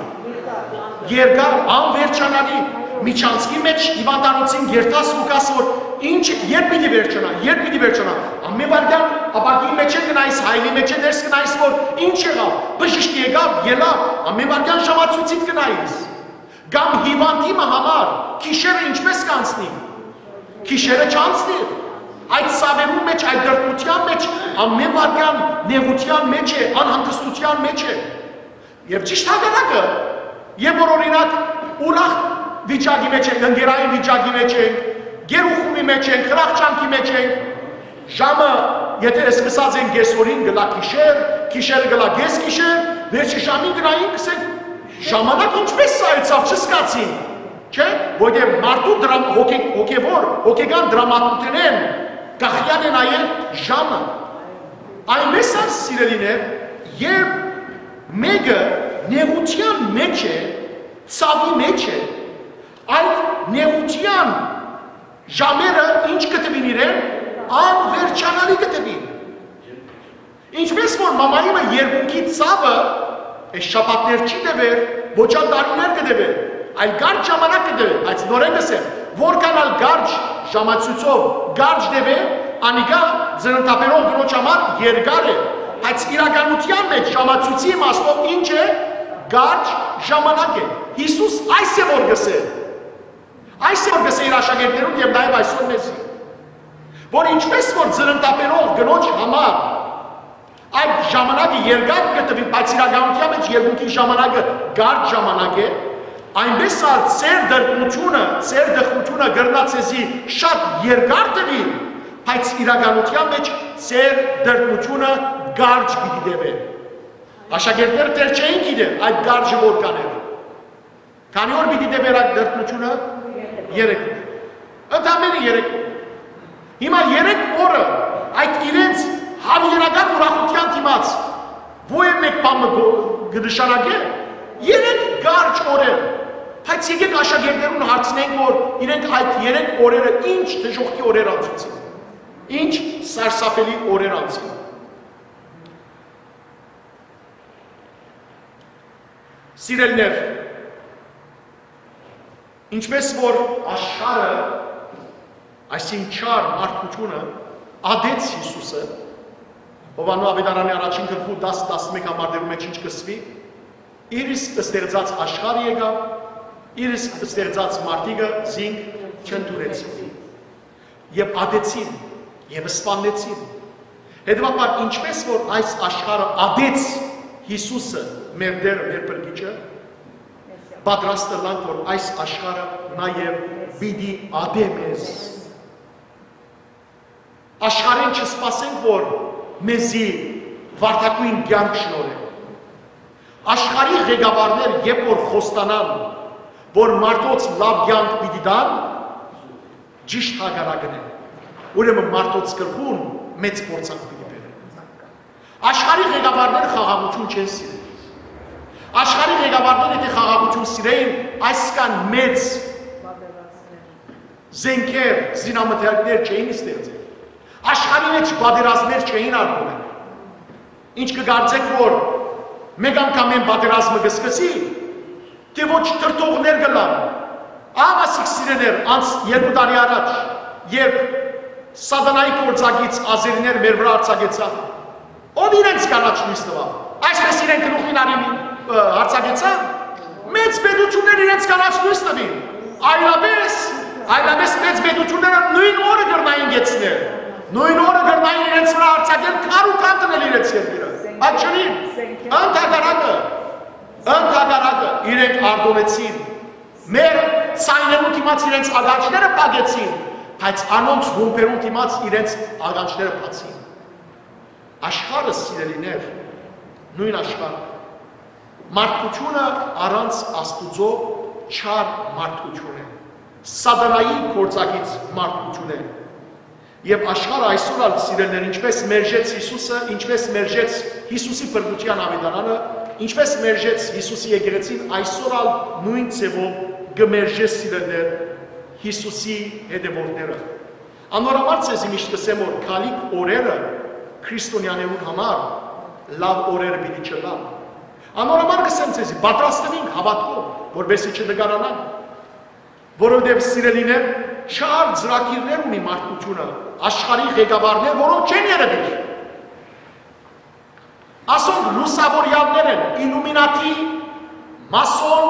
Երկար, անվերջանալի, միջանցքի մէջ հիւանդանոցին երթաս ու գաս, որ ինչ, երբ պիտի վերջանայ, երբ պիտի վերջանայ, ամէն վայրկեան ապակիի մէջ է գնայիս, հայլի մէջ է ներս գնայիս, որ ինչ եղաւ, բժիշկը եկաւ, ելաւ, ամէն վայրկեան ժամացոյցիդ գնայիս։ Կամ հիւանդի մը համար գիշերը ինչպէս կանցնի։ Գիշերը չանցնի։ Այդ ցաւերուն մէջ, այդ տրտմութեան մէջ, ամէն վայրկեան նեղութեան մէջ է, անհանգստութեան մէջ է։ Եւ ճիշդ հակառակը, երբ որ, օրինակ, ուրախ վիճակի մէջ ենք, ընկերային վիճակի մէջ ենք, գերուխումի մէջ ենք, խրախճանքի մէջ ենք, ժամը, եթե սկսած ենք կեսօրին, կ'ըլլայ գիշեր, գիշերը կ'ըլլայ կես գիշեր, վերջի ժամին կ'նայինք, կ'ըսենք, ժամանակ ինչպէս սա եցաւ, չզգացինք, չէ՞, որտեղ մարդու դրամ-, հոգե-, հոգեվոր, հոգեկան դրամատուրգիան կախեալ է նաեւ ժամը։ Այնպէս ալ, սիրելիներ, երբ մէկը նեղութեան մէջ է, ցաւի մէջ է, այդ նեղութեան ժամերը ինչ կը տուին իրեն, անվերջանալի կը տուին։ Ինչպէս որ մամայի մը երկունքի ցաւը այս շաբաթներ չի տեւեր, ոչ ալ տարիներ կը տեւեր, այլ կարճ ժամանակ կը տեւեր, բայց նորէն կ'ըսեմ, որքան ալ կարճ ժամացույցով կարճ տեւէ, անիկա ծննդաբերող կնոջ համար երկար է, բայց իրականութեան մէջ ժամացոյցի իմաստով ի՞նչ է, կարճ ժամանակ է։ Յիսուս այս է որ գսէ։ Այս է որ գսէ իր աշակերտներուն եւ նաեւ այսօր մեզի, որ ինչպես որ ծննդաբերող կնոջ համար այդ ժամանակը երկար կը տուի, բայց իրականութեան մէջ երկնքի ժամանակը կարճ ժամանակ է, այնպես ալ ձեր տրտմութիւնը, ձեր տխրութիւնը կրնայ ձեզի շատ երկար տուի, բայց իրականութեան մէջ ձեր տրտմութիւնը կարճ պիտի տեւէ։ Աշակերտները դեռ չէին գիտեր այդ կարճը որքան էր։ Քանի՞ օր պիտի տեւեր այդ տրտմութիւնը։ Երեք օր։ Ընդամենը երեք օր։ Հիմա երեք օրը այդ իրենց հավերական ուրախութեան դիմաց ո՞յ է մէկ բան մը գո-, կը նշանակէ։ Երեք կարճ օրեր։ Բայց եկեք աշակերտներուն հարցնենք, որ իրենք այդ երեք օրերը ինչ դժոխքի օրեր անցուցին, ինչ սարսափելի օրեր անցին։ Սիրելիներ, ինչպես որ աշխարհը, այսինքն՝ չար մարդկութիւնը, ատեց Յիսուսը, Յովհաննէ Աւետարանի առաջին գլխու տաս, տասնմէկ համարներու մէջ ինչ կ'ըսուի, իր իսկ ստեղծած աշխարհը եկաւ, իր իսկ ստեղծած մարդիկը զինք չընդունեցին։ Եւ ատեցին, եւ սպաննեցին։ Հետեւաբար, ինչպես որ այս աշխարհը ատեց Յիսուսը, մեր Տերը, մեր Փրկիչը, պատրաստ ըլլանք, որ այս աշխարհը նաեւ պիտի ատէ մեզ։ Աշխարհէն չսպասենք, որ մեզի վարդագոյն կեանք շնորհէ։ Աշխարհի ղեկավարներ երբ որ խոստանան, որ մարդոց լաւ կեանք պիտի տան, ճիշդ հակառակն է։ Ուրեմն մարդոց գլխուն մեծ փորձանք պիտի բերեն։ Աշխարհի ղեկավարները խաղաղութիւն չեն սիրել։ Աշխարհի ղեկավարները եթե խաղաղութիւն սիրէին, այսքան մեծ զենքեր, զինամթերքներ չէին ստեղծել։ Աշխարհի մէջ պատերազմներ չէին արթնանել։ Ինչ կը կարծէք, որ մէկ անգամէն պատերազմը կը սկսի, թէ ոչ դրդողներ կ'ըլլան։ Ահա ասիկ սիրելիներ, անց երկու տարի առաջ, երբ սատանայի գործակից ազերիներ մեր վրայ արձակեցան, ով իրենց կանաչ լոյս տուաւ։ Այսպես իրենք գլուխին արին, ը, արձակեցան։ Մեծ պետութիւններ իրենց կանաչ լոյս տուին։ Այլապես, այլապես մեծ պետութիւնները նոյն օրը կրնային գեցնել։ Նոյն օրը կրնային իրենց վրայ արձակել, քար ու քան դնել իրենց երկիրը։ Բայց չլին։ Ընդհակառակը, ընդհակառակը, իրենք արտոնեցին։ Մեր ձայներուն դիմաց իրենց ականջները փակեցին, բայց անոնց ռումբերուն դիմաց իրենց ականջները բացին։ Աշխարհը, սիրելիներ, նոյն աշխարհը։ Մարդկութիւնը առանց Աստուծոյ չար մարդկութիւն է, սատանայի գործակից մարդկութիւն է։ Եւ աշխարհը այսօր ալ, սիրելիներ, ինչպես մերժեց Յիսուսը, ինչպես մերժեց Յիսուսի փրկութեան աւետարանը, ինչպես մերժեց Յիսուսի եկեղեցին, այսօր ալ նոյն ձեւով կը մերժէ, սիրելիներ, Յիսուսի հետեւորդները։ Անոր համար ձեզի միշտ կ'ըսեմ, որ գալիք օրերը քրիստոնեաներուն համար լաւ օրերը պիտի չըլլան։ Անոր համար կ'ըսեմ ձեզի, պատրաստվինք հաւատքով, որպեսզի չնկարանանք, որովհետեւ, սիրելիներ, չար ծրագիրներ ունի մարդկութիւնը, աշխարհի ղեկավարներ, որոնք չեն երևիր։ Ասոնք լուսաւորեալներ են, իլլումինատի, մասոն,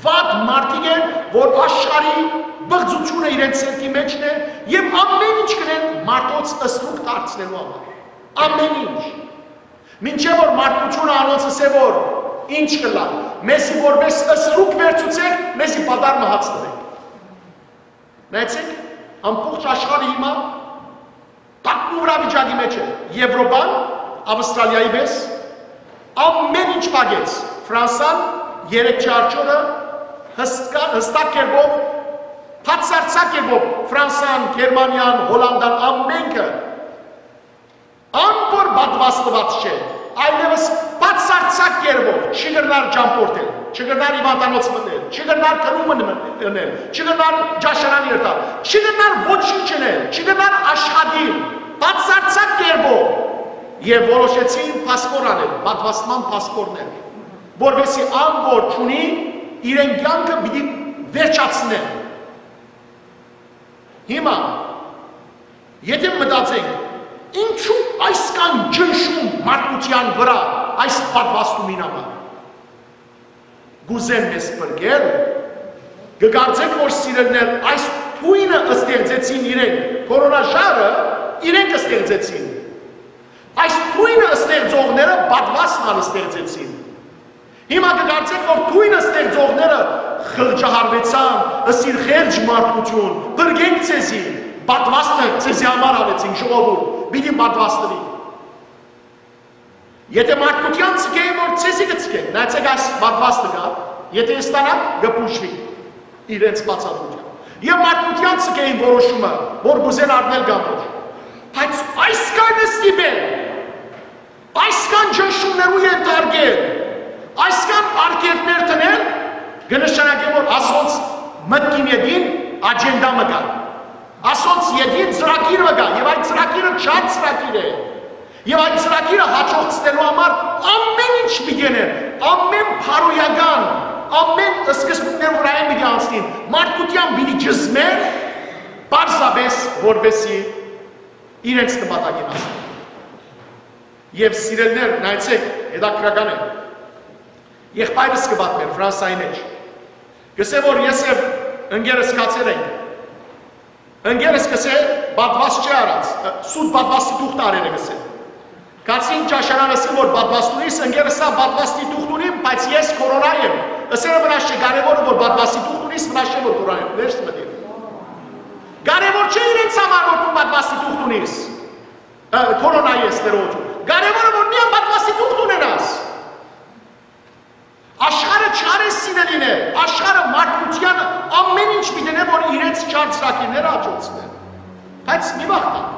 վատ մարդիկ են, որ աշխարհի բղծութիւնը իրենց սերտի մէջն է եւ ամեն ինչ կ'ընեն մարդոց ստրուկ դարձնելու համար։ Ամեն ինչ։ Մինչեւ որ մարդկութիւնը անոնց ըսէ, որ ինչ կ'ըլլայ, մեզի որպէս ստրուկ վերցուցէք, մեզի պատառ մը հաց տուէք։ Նայեցեք, ամբողջ աշխարհը հիմա տակնուվրավիճակի մէջ է։ Եվրոպան, Ավստրալիայի պես, ամեն ինչ փակեց։ Ֆրանսան երեքշաբթի օրը հստկա-, հստակ կերպով, բացարձակ կերպով Ֆրանսան, Գերմանիան, Հոլանդան, ամենքը ան որ պատվաստուած չէ, այլեւս բացարձակ կերպով չի կրնար ճամբորդել, չի կրնար հիւանդանոց մտնել, չի կրնար գնումը մտնել, չի կրնար ճաշարան երթալ, չի կրնար ոչինչ անել, չի կրնար աշխատիլ, բացարձակ կերպով։ Եւ որոշեցին փասպոր անել, պատվաստման փասպորներ, որպեսզի ան որ չունի, իրեն կեանքը պիտի վերջացնեն։ Հիմա, եթե մտածենք, Ինչու այսքան ճնշում մարդկութեան վրայ այս պատվաստումին համար։ Կ'ուզեմ մեզ փրկել։ Կը կարծէք, որ, սիրելիներ, այս թոյնը ստեղծեցին իրենք, կորոնաժարը իրենք ստեղծեցին։ Այս թոյնը ստեղծողները պատվաստն ալ ստեղծեցին։ Հիմա կը կարծէք, որ թոյնը ստեղծողները խղճահարուեցան, ըսին՝ «Խեղճ մարդկութիւն, փրկենք ձեզի, պատվաստը ձեզի համար ալեցինք, ժողովուրդ, պիտի պատվաստուի»։ Եթէ մարդկութեան ձգէին, որ ձեզի կը ձգեն, նայեցէք, այս պատվաստը կայ, եթէ ստանաք, կը բուժուի իրենց բացատրութեան։ Եւ մարդկութեան ձգէին որոշումը, որ կ'ուզեն առնել կամ ոչ։ Բայց այսքան ստիպել, այսքան ճնշումներու ենթարկել, այսքան արգելքներ դնել, կը նշանակէ, որ ասոնց մտքին ետին աջենդա մը կայ, ասոնց ետին ծրագիր մը կայ, եւ այդ ծրագիրը չար ծրագիր է։ Եւ այդ ծրագիրը հաջողցնելու համար ամէն ինչ պիտի ընեն, ամէն բարոյական, ամէն սկզբունքներ վրայէն պիտի անցնին, մարդկութեան պիտի ճզմեն, պարզապէս որպեսզի իրենց նպատակին հասնեն։ Եւ, սիրելիներ, նայեցէք, հետաքրական է։ Եղբայրս կը պատմէր Ֆրանսայի մէջ։ Կ'ըսէ, որ ես եւ ընկերս գացեր ենք։ Ընկերս կ'ըսէ, պատվաստ չի առած, սուտ պատվաստի թուղթ առեր է, կ'ըսէ։ Գացին ճաշարան, ըսին, որ պատվաստունիս, ընկերս սա պատվաստի թուղթ ունիմ, բայց ես կորոնայ եմ։ Ըսել է, վնաս չէ, կարեւորը որ պատվաստի թուղթ ունիս, վնաս չէ որ կորոնայ եմ, վերջ մտի։ Կարեւոր չէ իրենց համար, որ դու պատվաստի թուղթ ունիս, ը, կորոնայ ես, Տէր Օճ։ Կարեւորը որ միան պատվաստի թուղթ ունենաս։ Աշխարհը չար է, սիրելիներ, աշխարհը մարդկութեանը ամէն ինչ պիտի ընէ, որ իրենց չար ծրագիրները աջակցեն։ Բայց մի վախտան։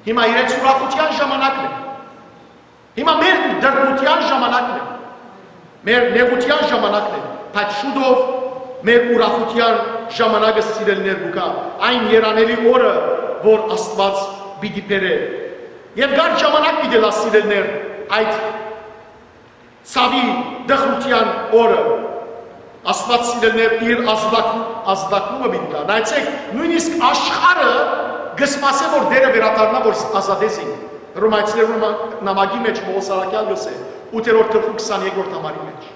Հիմա իրենց ուրախութեան ժամանակն է։ Հիմա մեր դրդմութեան ժամանակն է։ Մեր նեղութեան ժամանակն է, բայց շուտով մեր ուրախութեան ժամանակը, սիրելիներ, կու գայ, այն երանելի օրը, որ Աստուած պիտի բերէ։ Եվ կար ժամանակ պիտի լա, սիրելիներ, այդ ցաւի, տխրութեան օրը։ Աստուած, սիրելիներ, իր ազդակ-, ազդակումը պիտի տայ։ Նայեցէք, նոյնիսկ աշխարհը կը սպասէ, որ Տէրը վերադառնայ, որ ազատէ զինք։ Հռոմայեցիներուն նամակի մէջ Պողոս առաքեալ կ'ըսէ, ութերորդ գլխու քսանեքերորդ համարի մէջ։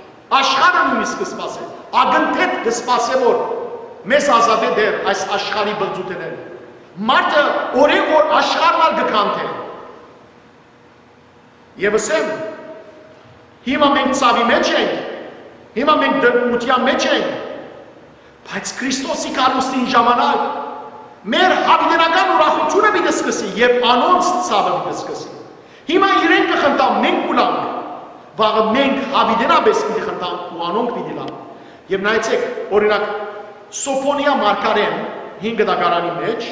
Աշխարհը նոյնիսկ կը սպասէ, ակնթեթ կը սպասէ, որ մեզ ազատէ Տէր այս աշխարհի բլձութենէն։ Մարդը օրէ օր աշխարհն ալ կը քանդէ։ Եվ ըսեմ, հիմա մենք ցաւի մէջ ենք, հիմա մենք դրդմութեան մէջ ենք, բայց Քրիստոսի գալուստին ժամանակ մեր յաւիտենական ուրախութիւնը պիտի սկսի, երբ անոնց ցաւը պիտի սկսի։ Հիմա իրենք կը խնդան, մենք կ'ուլանք, վաղը մենք յաւիտենապէս պիտի խնդանք ու անոնք պիտի լան։ Եվ նայեցէք, օրինակ, Սոփոնիա մարգարեն հին գտակարանի մէջ,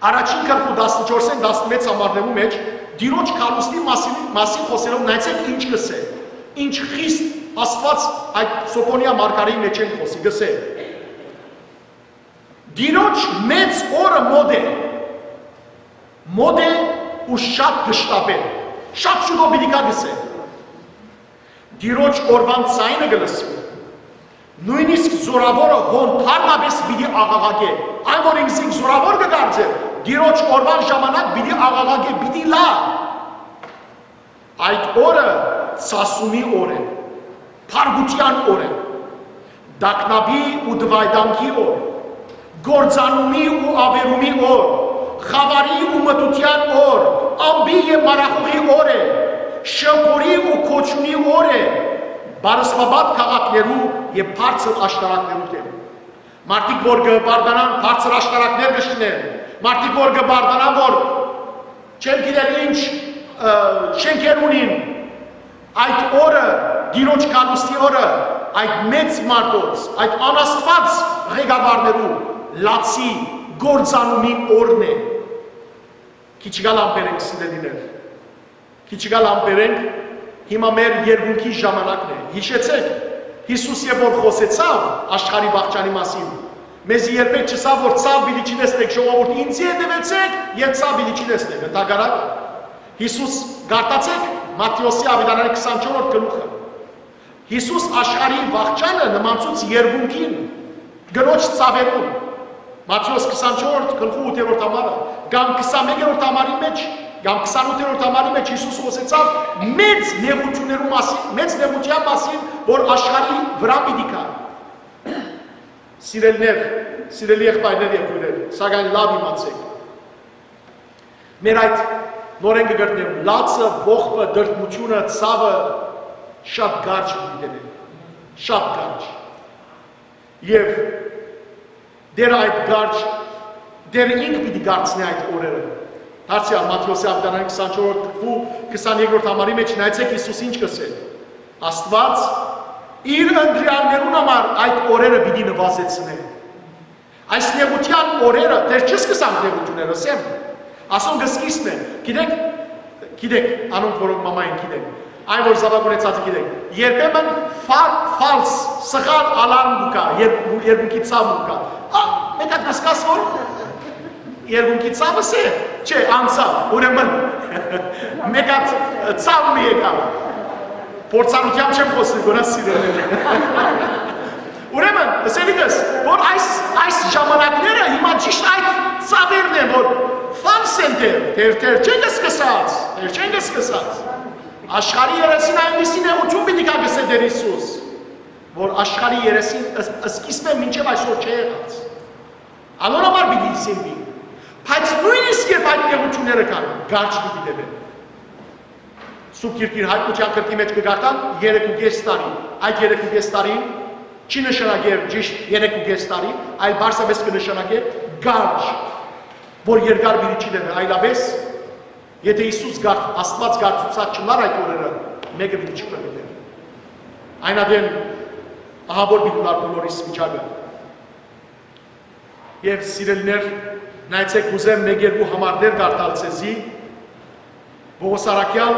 առաջին գլխու տասնչորսէն տասնմեծ համարներու մէջ Տիրոջ գալուստի մասին, մասին խօսելով, նայեցէք ինչ կ'ըսէ, ինչ խիստ Աստուած այդ Սոփոնիա մարգարեի մէջէն խօսի, կ'ըսէ. «Տիրոջ մեծ օրը մօտ է, մօտ է ու շատ կշտապ է, շատ շուտով պիտի գայ», կ'ըսէ։ Տիրոջ օրուան ձայնը կը լսուի։ Նոյնիսկ զօրաւորը հոն դառնապէս պիտի աղաղակէ։ Այն որ ինքզինք զօրաւոր կը կարծէ, Տիրոջ օրուան ժամանակ պիտի աղաղակէ, պիտի լայ։ Այդ օրը ցասումի օր է, փառքութեան օր է, տագնապի ու դվայտանքի օր, կործանումի ու աւերումի օր, խաւարի ու մթութեան օր, ամպի եւ մառախուղի օր է, շնորհի ու կոչումի օր է, պարսպապատ քաղաքներու եւ բարձր աշտարակներու դէմ։ Մարդիկ որ կը բարդանան, բարձր աշտարակներ կը շինեն, մարդիկ որ կը բարդանան, որ չեմ գիտեր ինչ, ը, շենքեր ունին, այդ օրը, Տիրոջ գալուստի օրը, այդ մեծ մարդոց, այդ անաստուած ղեկավարներու լացի կործանումի օրն է։ Քիչ գալ ամբերենք, սիրելիներ, քիչ գալ ամբերենք, հիմա մեր երկունքի ժամանակն է։ Յիշեցեք, Յիսուս երբ որ խօսեցաւ աշխարհի վախճանի մասին, մեզի երբեք չըսաւ, որ ցաւ պիտի չի տեսնեք, ժողովուրդ, ինձի հետևեցեք, եւ ցաւ պիտի չի տեսնեք, ընդհակառակը։ Յիսուս, կարդացեք Մատթէոսի Աւետարանի քսանչորսերորդ գլուխը։ Յիսուս աշխարհի վախճանը նմանցուց երկունքին, կնոջ ցաւերուն։ Մատթէոս քսանչորսերորդ գլխու ութերորդ համարը, կամ քսանմէկերորդ համարի մէջ, կամ քսանութերորդ համարի մէջ Յիսուս խօսեցաւ մեծ նեղութիւններու մասին, մեծ նեղութեան մասին, որ աշխարհի վրայ պիտի գայ։ Սիրելիներ, սիրելի եղբայրներ եւ քոյրեր, սակայն լաւ իմացէք։ Մեր այդ նորէն կը կրկնեմ, լացը, ողբը, տրտմութիւնը, ցաւը շատ կարճ պիտի տեւեն։ Շատ կարճ։ Եւ Տէրը այդ կարճ, Տէրը ինք պիտի կարցնէ այդ օրերը։ Դարձեալ Մատթէոսի Ավետարանի քսանչորսերորդ գլխու քսաներկերորդ համարի մէջ նայեցէք Յիսուս ինչ կ'ըսէ։ Աստուած իր ընտրեալներուն համար այդ օրերը պիտի նուազեցնէ։ Այս նեղութեան օրերը, դեռ չսկսանք նեղութիւնները, ասեմ, ասոնք կը սկսեն։ Գիտեք, գիտեք, անոնք, որոնք մամա են, գիտեն, այն, որ զաւակ ունեցածը, գիտեն, երբեմն ֆա-, ֆալս, սխալ ալարմ կու գայ, երկու, երկունքի ցաւ կու գայ։ Ա, մեկ հատ կսկաս, որ երկունքի ցավս է, չէ, անցաւ, ուրեմն, մեկ հատ ցավ մը եկաւ։ Փորձառութեամբ չեմ խօսեր, գոնա սիրել։ Ուրեմն, ըսելիքս, որ այս, այս ժամանակները հիմա ճիշտ այդ ցավերն են, որ ֆալս են դեռ, դեռ, դեռ չեն սկսած, դեռ չեն սկսած։ Աշխարհի երեսին այնպիսի նեղութիւն պիտի գայ, կ'ըսէ Տէր Յիսուս, որ աշխարհի երեսին ըս-, սկիզբէն մինչեւ այսօր չէ եղած։ Անոր համար պիտի սինվի։ Բայց նոյնիսկ երբ այդ նեղութիւնները կան, կարճ պիտի տեւեն։ Սուրբ Գիրքին Հայտնութեան գրքի մէջ կը կարդանք երեք ու կէս տարի։ Այդ երեք ու կէս տարին չի նշանակեր ճիշտ երեք ու կէս տարի, այլ պարզապէս կը նշանակէ կարճ, որ երկար պիտի չի տեւէ, այլապէս, եթէ Յիսուս կարդ-, Աստուած կարդացուցած չըլլար այդ օրերը, մէկը պիտի չփրկէր։ Այն ատեն ահա որ պիտի լար բոլորիս վիճակը։ Եւ սիրելիներ, նայեցէք, կ'ուզեմ մէկ երկու համարներ կարդալ ձեզի, Պողոս առաքեալ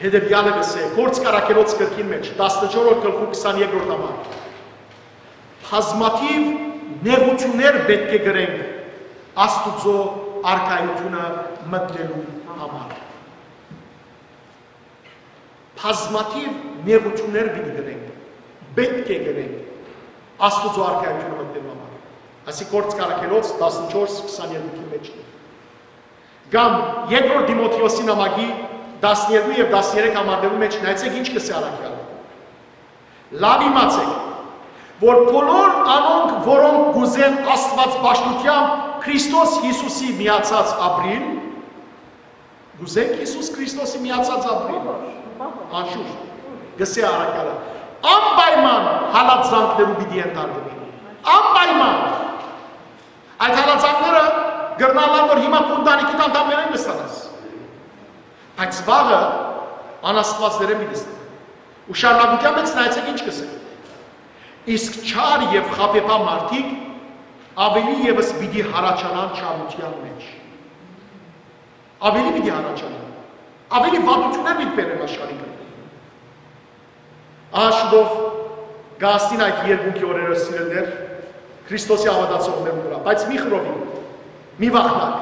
հետեւեալը կ'ըսէ, Գործք առաքելոց գրքին մէջ, տասնչորսերորդ գլխու քսաներկերորդ համար։ Բազմաթիւ նեղութիւններ պէտք է կրենք Աստուծոյ արքայութիւնը մտնելու համար։ Բազմաթիւ նեղութիւններ պիտի կրենք, պէտք է կրենք Աստուծոյ արքայութիւնը մտնելու համար։ Ասի Գործք առաքելոց տասնչորս քսաներկուի մէջ։ Կամ երկրորդ Տիմոթէոսի նամակի տասներկու եւ տասներեք համարներու մէջ նայեցէք ինչ կ'ըսէ առաքեալը։ Լաւ իմացէք, որ բոլոր անոնք, որոնք կ'ուզեն Աստուած պաշտութեամբ Քրիստոս Յիսուսի միացած ապրիլ, կ'ուզենք Յիսուս Քրիստոսի միացած ապրիլ, անշուշտ, կ'ըսէ առաքեալը, անպայման հալածանքներու պիտի ենթարկուին։ Անպայման։ Այդ հալածանքները կրնան ալ, որ հիմա քու ընտանիքիդ անդամներէն կ'ըլլան։ Բայց վաղը անաստուածներէն պիտի ըլլան։ Ու շարունակութեան մէջ նայեցէք ինչ կ'ըսէ։ Իսկ չար եւ խաբեբայ մարդիկ աւելի եւս պիտի հառաչանան չարութեան մէջ։ Աւելի պիտի հառաչանան։ Աւելի վատութիւններ պիտի բերեն աշխարհին վրայ։ Ահա շուտով կ'հասնին այդ երկունքի օրերը, սիրելիներ, Քրիստոսի հաւատացողներուն վրայ, բայց մի խռովին, մի վախնաք,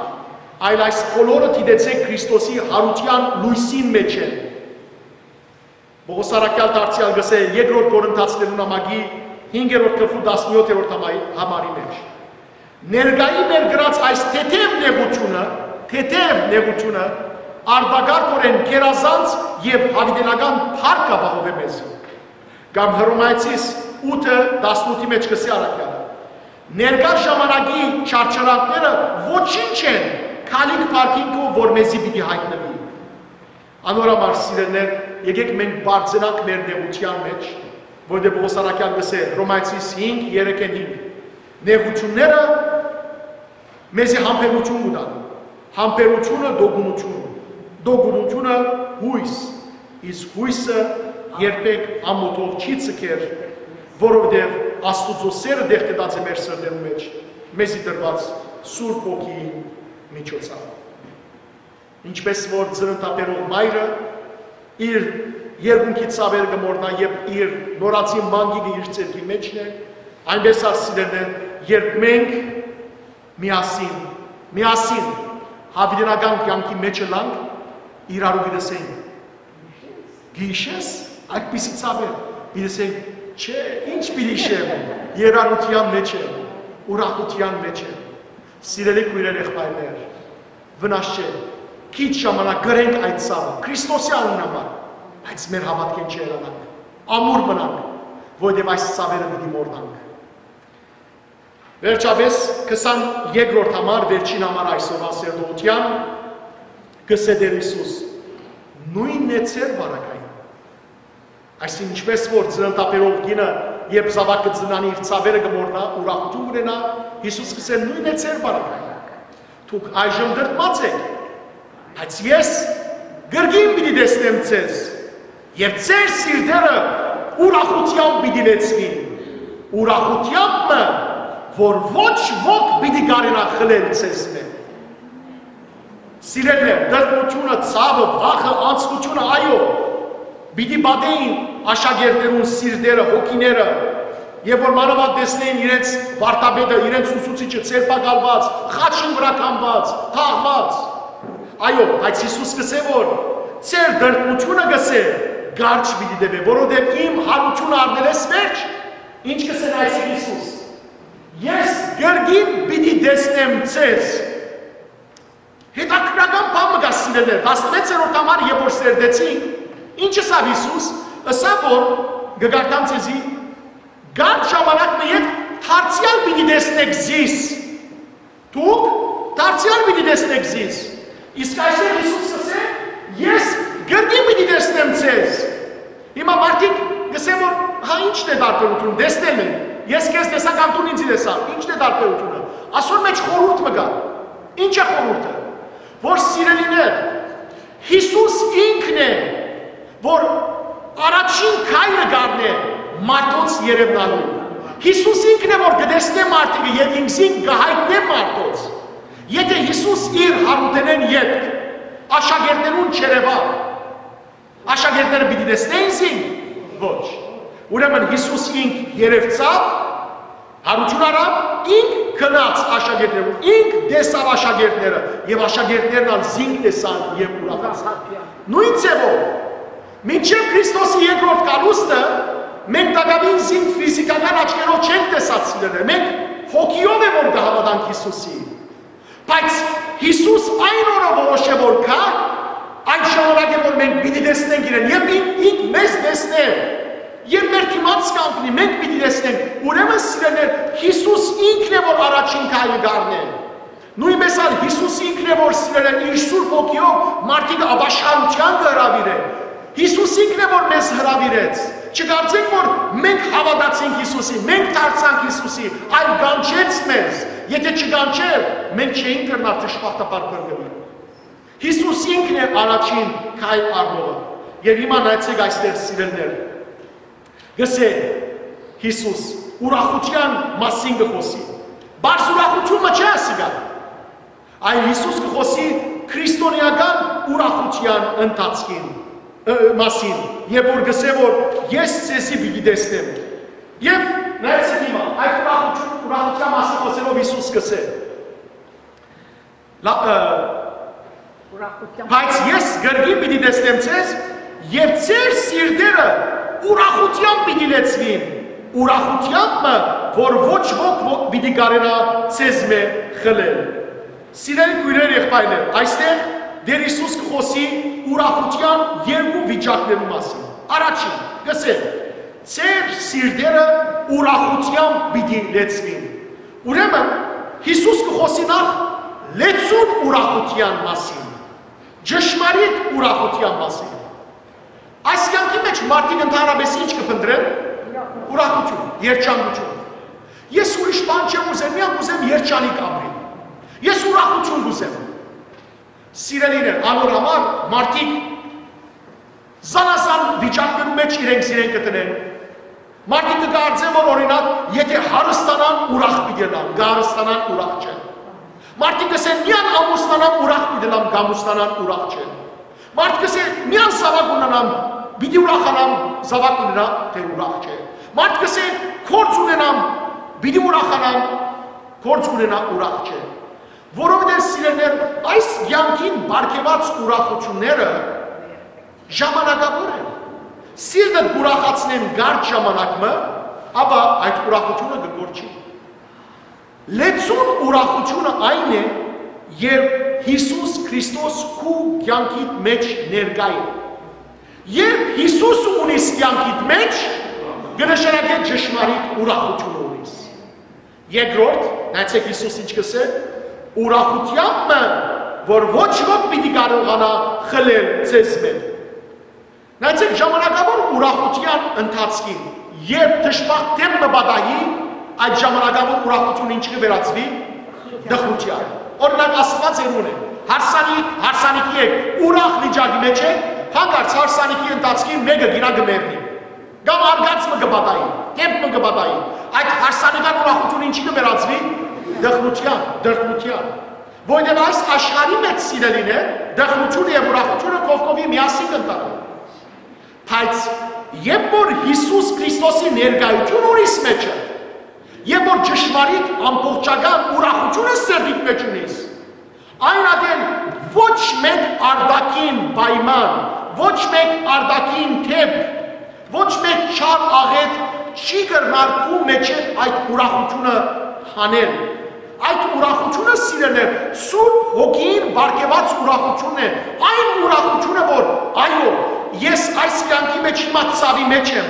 այլ այս բոլորը դիտեցէք Քրիստոսի յարութեան լոյսին մէջ են։ Պողոս առաքեալ դարձեալ կ'ըսէ երկրորդ Կորինթացիներու նամակի հինգերորդ գլխու տասնեօթերորդ համայ-, համարի մէջ։ Ներկայի մեր գրած այս թեթեւ նեղութիւնը, թեթեւ նեղութիւնը արտակարգօրէն գերազանց եւ յաւիտենական փառք կ'ապահովէ մեզի։ Կամ Հռոմայեցիս ութը տասնութի մէջ կ'ըսէ առաքեալը. «Ներկայ ժամանակի չարչարանքները ոչինչ են քալիք փառքին քով, որ մեզի պիտի յայտնուի»։ Անոր համար, սիրելիներ, եկէք մենք բարձրանանք մեր նեղութեան մէջ, որտեղ Պողոս առաքեալ կ'ըսէ Հռոմայեցիս հինգ, երեքէն հինգ. «Նեղութիւնները մեզի համբերութիւն կու տան, համբերութիւնը՝ տոկունութիւն, տոկունութիւնը՝ յոյս, իսկ յոյսը երբեք ամօթով չի ձգեր, որովհետեւ Աստուծոյ սէրը տեղ գտած է մեր սրտերու մէջ, մեզի տրուած Սուրբ Հոգիին միջոցաւ»։ Ինչպէս որ ծննդաբերող մայրը իր երկունքի ցաւերը կը մոռնայ, երբ իր նորածին մանկիկը իր ձեռքի մէջն է, այնպէս ալ, սիրելիներ, երբ մենք միասին, միասին յաւիտենական կեանքի մէջ ըլլանք, իրարու պիտի ըսենք. «Կը յիշե՞ս այդպիսի ցաւեր»։ Պիտի ըսենք. «Չէ, ինչ պիտի յիշեմ, երարութեան մէջ եմ»։ ուրախութեան մէջ է։ Սիրելի քոյրեր, եղբայրներ, վնաս չէ, քիչ ժամանակ կրենք այդ ցաւը Քրիստոսի անունին համար, բայց մեր հաւատքէն չհեռանանք, ամուր մնանք, որովհետեւ այս ցաւերը պիտի մոռնանք։ Վերջապէս, քսան երկրորդ համար, վերջին համար այսօրվա սերտողութեան, կ'ըսէ Տէր Յիսուս. «Նոյնն է ձեր պարագային»։ Այսինքն, ինչպէս որ ծննդաբերող կինը, երբ զաւակ կը ծննի, իր ցաւերը կը մոռնայ, ուրախութիւն կ'ունենայ, Յիսուս կ'ըսէ. «Նոյնն է ձեր պարագային։ Դուք այժմ տրտմած էք, բայց ես կրկին պիտի տեսնեմ ձեզ, եւ ձեր սիրտերը ուրախութեամբ պիտի լեցուին, ուրախութեամբ մը, որ ոչ ոք պիտի կարենայ խլել ձեզմէ»։ Սիրելիներ, տրտմութիւնը, ցաւը, վախը, անձնութիւնը, այո, պիտի պատէին աշակերտներուն սիրտերը, հոգիները, եւ որ մանաւանդ տեսնէին իրենց վարդապետը, իրենց ուսուցիչը ձերբակալուած, խաչին վրայ կամուած, թաղուած։ Այո, բայց Յիսուս կ'ըսէ, որ ձեր տրտմութիւնը, կ'ըսէ, կարճ պիտի տեւէ, որովհետեւ իմ յարութիւնը առնելէս վերջ, ինչ կ'ըսէ Յիսուս. «Ես կրկին պիտի տեսնեմ ձեզ»։ Հետաքրքրական բան մը կա, սիրելիներ, տասնմեծերորդ համար, երբ որ սերտեցինք, ինչ ըսաւ Յիսուս, ըսաւ, որ կը կարդամ ձեզի. «Կարճ ժամանակ մը ետք դարձեալ պիտի տեսնէք զիս»։ Դուք դարձեալ պիտի տեսնէք զիս։ Իսկ այսօր Յիսուս կ'ըսէ. «Ես կրկին պիտի տեսնեմ ձեզ»։ Հիմա մարդիկ կ'ըսեն, որ հա, ի՞նչն է տարբերութիւնը, տեսնել են։ Ես քեզ տեսայ կամ դուն ինձ տեսայ, ի՞նչն է տարբերութիւնը։ Ասոր մէջ խորհուրդ մը կայ։ Ի՞նչ է խորհուրդը։ Որ, սիրելիներ, Յիսուս ինքն է, որ առաջին քայլը կ'առնէ մարդոց երեւնալու։ Յիսուս ինքն է, որ կը տեսնէ մարդիկը եւ ինքզինք կը յայտնէ մարդոց։ Եթէ Յիսուս իր յարութենէն ետք աշակերտներուն չերեւայ, աշակերտները պիտի տեսնե՞յն զինք։ Ոչ։ Ուրեմն Յիսուս ինք երեւցաւ, յարութիւն առաւ, ինք գնաց աշակերտներուն, ինք տեսաւ աշակերտները եւ աշակերտներն ալ զինք տեսան եւ ուրախացան։ Նոյն ձեւով, մինչեւ Քրիստոսի երկրորդ գալուստը մենք տակաւին զինք ֆիզիքական աչքերով չենք տեսած, սիրելիներ, մենք հոգիով է որ կը հաւատանք Յիսուսի։ Բայց Յիսուս այն օրը որոշ է որ գայ, այդ ժամանակ է որ մենք պիտի տեսնենք իրեն, եւ ինք, ինք մեզ տեսնէ, եւ մեր դիմաց կ'անքնի, մենք պիտի տեսնենք։ Ուրեմն, սիրելիներ, Յիսուս ինքն է որ առաջին քայլը կ'առնէ։ Նոյնպէս ալ Յիսուս ինքն է որ, սիրելիներ, իր Սուրբ Հոգիով մարդիկ ապաշխարութեան կը հրաւիրէ։ Յիսուս ինքն է որ մեզ հրաւիրեց։ Չկարծենք որ մենք հաւատացինք Յիսուսի, մենք դարձանք Յիսուսի, այլ կանչեց մեզ։ Եթէ չկանչէր, մենք չէինք կրնար դժբախտաբար փրկուիլ։ Յիսուս ինքն է առաջին քայլ առնողը։ Եւ հիմա նայեցէք այստեղ, սիրելիներ, կ'ըսէ Յիսուս, ուրախութեան մասին կը խօսի։ Բարձ ուրախութիւն մը չէ ասիկա, այլ Յիսուս կը խօսի քրիստոնեական ուրախութեան ընթացքին, ը, մասին, երբ որ կ'ըսէ որ ես ձեզի պիտի տեսնեմ։ Եւ նայեցեք հիմա, այդ ուրախութիւն, ուրախութեան մասին խօսելով Յիսուս կ'ըսէ. Լա-, ը, Ուրախութեան։ «Բայց ես կրկին պիտի տեսնեմ ձեզ, եւ ձեր սիրտերը ուրախութեամբ պիտի լեցուին, ուրախութեամբ մը, որ ոչ ոք ո-, պիտի կարենայ ձեզմէ խլել»։ Սիրելի քոյրեր, եղբայրներ, այստեղ Տէր Յիսուս կը խօսի ուրախութեան երկու վիճակներու մասին։ Առաջին, կ'ըսէ. «Ձեր սիրտերը ուրախութեամբ պիտի լեցուին»։ Ուրեմն, Յիսուս կը խօսի նախ լեցուն ուրախութեան մասին, ճշմարիտ ուրախութեան մասին։ Այս կեանքի մէջ մարդիկ ընդհանրապէս ինչ կը փնտռեն։ Ուրախութիւն, երջանկութիւն։ «Ես ուրիշ բան չեմ ուզեր, միայն կ'ուզեմ երջանիկ ապրիլ։ Ես ուրախութիւն կ'ուզեմ»։ Սիրելիներ, անոր համար մարդիկ զանազան վիճակներու մէջ իրենք զիրենք կը տնեն։ Մարդիկ կը կարծեն որ, օրինակ, եթէ հարստանան, ուրախ պիտի ըլլան, կը հարստանան, ուրախ չեն։ Մարդիկ կ'ըսեն, միան ամուսնանամ, ուրախ պիտի ըլլամ, կ'ամուսնանան, ուրախ չեն։ Մարդ կ'ըսէ, միան զաւակ ունենամ, պիտի ուրախանամ, զաւակ ունենայ, դեռ ուրախ չէ։ Մարդ կ'ըսէ, գործ ունենամ, պիտի ուրախանամ, գործ ունենայ, ուրախ չէ։ Որովհետեւ, սիրելիներ, այս կեանքին պարգեւած ուրախութիւնները ժամանակաւոր են։ Սիրտդ կ'ուրախացնեն կարճ ժամանակ մը, ապա այդ ուրախութիւնը կը կորչի։ Լեցուն ուրախութիւնը այն է, երբ Յիսուս Քրիստոս քու կեանքիդ մէջ ներկայ է։ Երբ Յիսուս ունիս կեանքիդ մէջ, կը նշանակէ ճշմարիտ ուրախութիւնը ունիս։ Երկրորդ, նայեցէք Յիսուս ինչ կ'ըսէ, ուրախութեամբ մը, որ ոչ ոք պիտի կարողանայ խլել ձեզմէ։ Նայեցէք, ժամանակաւոր ուրախութեան ընթացքին, երբ դժբախտ դէմ մը պատահի, այդ ժամանակաւոր ուրախութիւնը ինչ կը վերածուի, տխրութեան։ Օրինակ, Աստուած երուն է, հարսանիք, հարսանիքի եք, ուրախ վիճակի մէջ եք, հանկարծ հարսանիքի ընթացքին մէկը գինայ կը մեռնի, կամ արգած մը կը պատահի, դէմ մը կը պատահի, այդ հարսանեկան ուրախութիւնը ինչի կը վերածուի, տխրութեան, դրդմութեան։ Որովհետեւ այս աշխարհի մէջ, սիրելիներ, տխրութիւնը եւ ուրախութիւնը կողքովի միասին կ'ընթանան։ Բայց երբ որ Յիսուս Քրիստոսի ներկայութիւնը ունիս մէջը, երբ որ ճշմարիտ ամբողջական ուրախութիւնը սրտիդ մէջ ունիս, այն ատեն ոչ մէկ արտաքին պայման, ոչ մէկ արտաքին դէպք, ոչ մէկ չար աղէտ չի կրնար քու մէջէդ այդ ուրախութիւնը հանել։ Այդ ուրախութիւնը, սիրելիներ, Սուրբ Հոգին պարգեւած ուրախութիւնն է, այն ուրախութիւնը, որ, այո, ես այս կեանքի մէջ հիմա ցաւի մէջ եմ,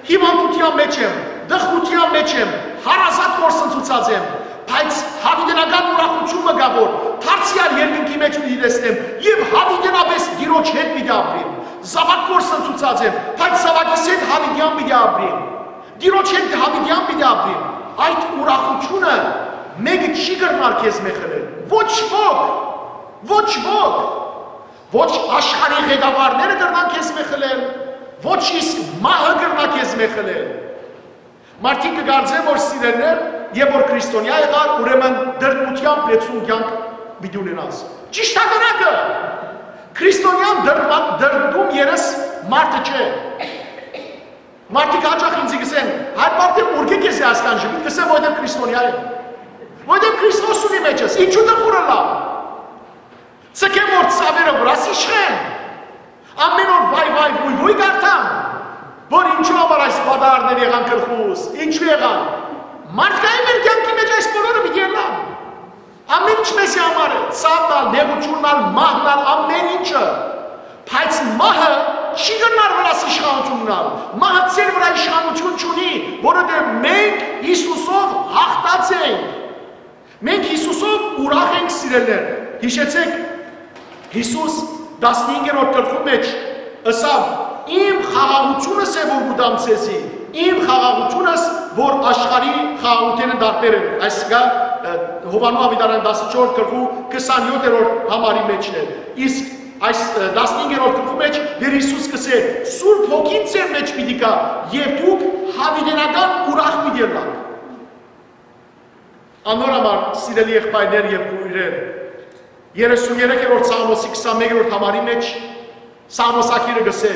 հիւանդութեան մէջ եմ, տխրութեան մէջ եմ, հարազատ կորսնցուցած եմ, բայց յաւիտենական ուրախութիւն մը կայ, որ դարձեալ երկնքի մէջ պիտի տեսնեմ եւ յաւիտենապէս Տիրոջ հետ պիտի ապրեմ։ Զաւակ կորսնցուցած եմ, բայց զաւակիս հետ յաւիտեան պիտի ապրեմ։ Տիրոջ հետ յաւիտեան պիտի ապրեմ։ Այդ ուրախութիւնը մէկը չի կրնար քեզմէ խլել։ Ոչ ոք, ոչ ոք, ոչ աշխարհի ղեկավարները կրնան քեզմէ խլել, ոչ իսկ մահը կրնայ քեզմէ խլել։ Մարդիկ կը կարծեն, որ, սիրելիներ, երբ որ քրիստոնեայ եղար, ուրեմն դրդմութեամբ լեցուն կեանք պիտի ունենաս։ Ճիշդականակը, քրիստոնեան դրդմա-, դրդում երես մարդը չէ։ Մարդիկ յաճախ ինձի կ'ըսեն, «Հայր Պարթ, ուրկէ՞ քեզի այսքան ժպիտ»։ Կ'ըսեմ, որովհետեւ քրիստոնեայ եմ։ Որովհետեւ Քրիստոս ունի մէջս, ինչու՞ տխուր ըլլամ։ Ձգեմ որ ծաւերը վրաս իշխեն, ամէն օր վայ-վայ-վույ-վույ կարդամ, որ ինչու համար այս պատահարները եղան գլխուս, ինչու եղան։ Մարդկային մեր կեանքի մէջ այս բոլորը պիտի ըլլան։ Ամէն ինչ մեզի համար է, ցաւն ալ, նեղութիւնն ալ, մահն ալ, ամէն ինչը։ Բայց մահը չի կրնար վրաս իշխանութիւն ունենալ։ Մահը ձեր վրայ իշխանութիւն չունի, որովհետեւ մենք Յիսուսով յաղթած ենք։ Մենք Յիսուսով ուրախ ենք, սիրելիներ։ Յիշեցէք, Յիսուս տասնհինգերորդ գլխու մէջ ըսաւ. «Իմ խաղաղութիւնս է, որ կու տամ ձեզի, իմ խաղաղութիւնս, որ աշխարհի խաղաղութենէն տարբեր է»։ Այսինքն, ը, Յովհաննէ աւետարան տասնչորս գլխու քսանյոթերորդ համարի մէջն է։ Իսկ այս, ը, տասնհինգերորդ գլխու մէջ Տէր Յիսուս կ'ըսէ. «Սուրբ Հոգին ձեր մէջ պիտի գայ եւ դուք յաւիտենական ուրախ պիտի ըլլաք»։ Անոր համար, սիրելի եղբայրներ եւ քոյրեր, երեսուն երեքերորդ Սաղմոսի քսանմեկերորդ համարի մէջ Սաղմոսագիրը կ'ըսէ.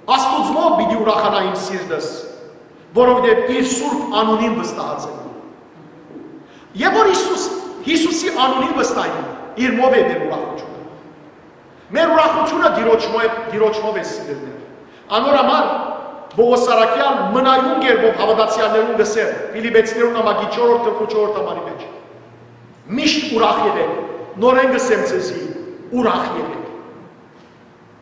«Աստուծմով պիտի ուրախանայ իմ սիրտս, որովհետեւ իր սուրբ անունին վստահած եմ»։ Եւ որ Յիսուս, Յիսուսի անունին վստահի, իրմով է մեր ուրախութիւնը։ Մեր ուրախութիւնը Տիրոջմով է, Տիրոջմով է, սիրելիներ։ Անոր համար Պողոս Առաքեալ մնայուն կերպով հաւատացեալներուն կ'ըսէ Ֆիլիպեցիներուն նամակի չորրորդ գլխու չորրորդ համարի մէջ. «Միշտ ուրախ եղէք, նորէն կ'ըսեմ ձեզի, ուրախ եղէք»։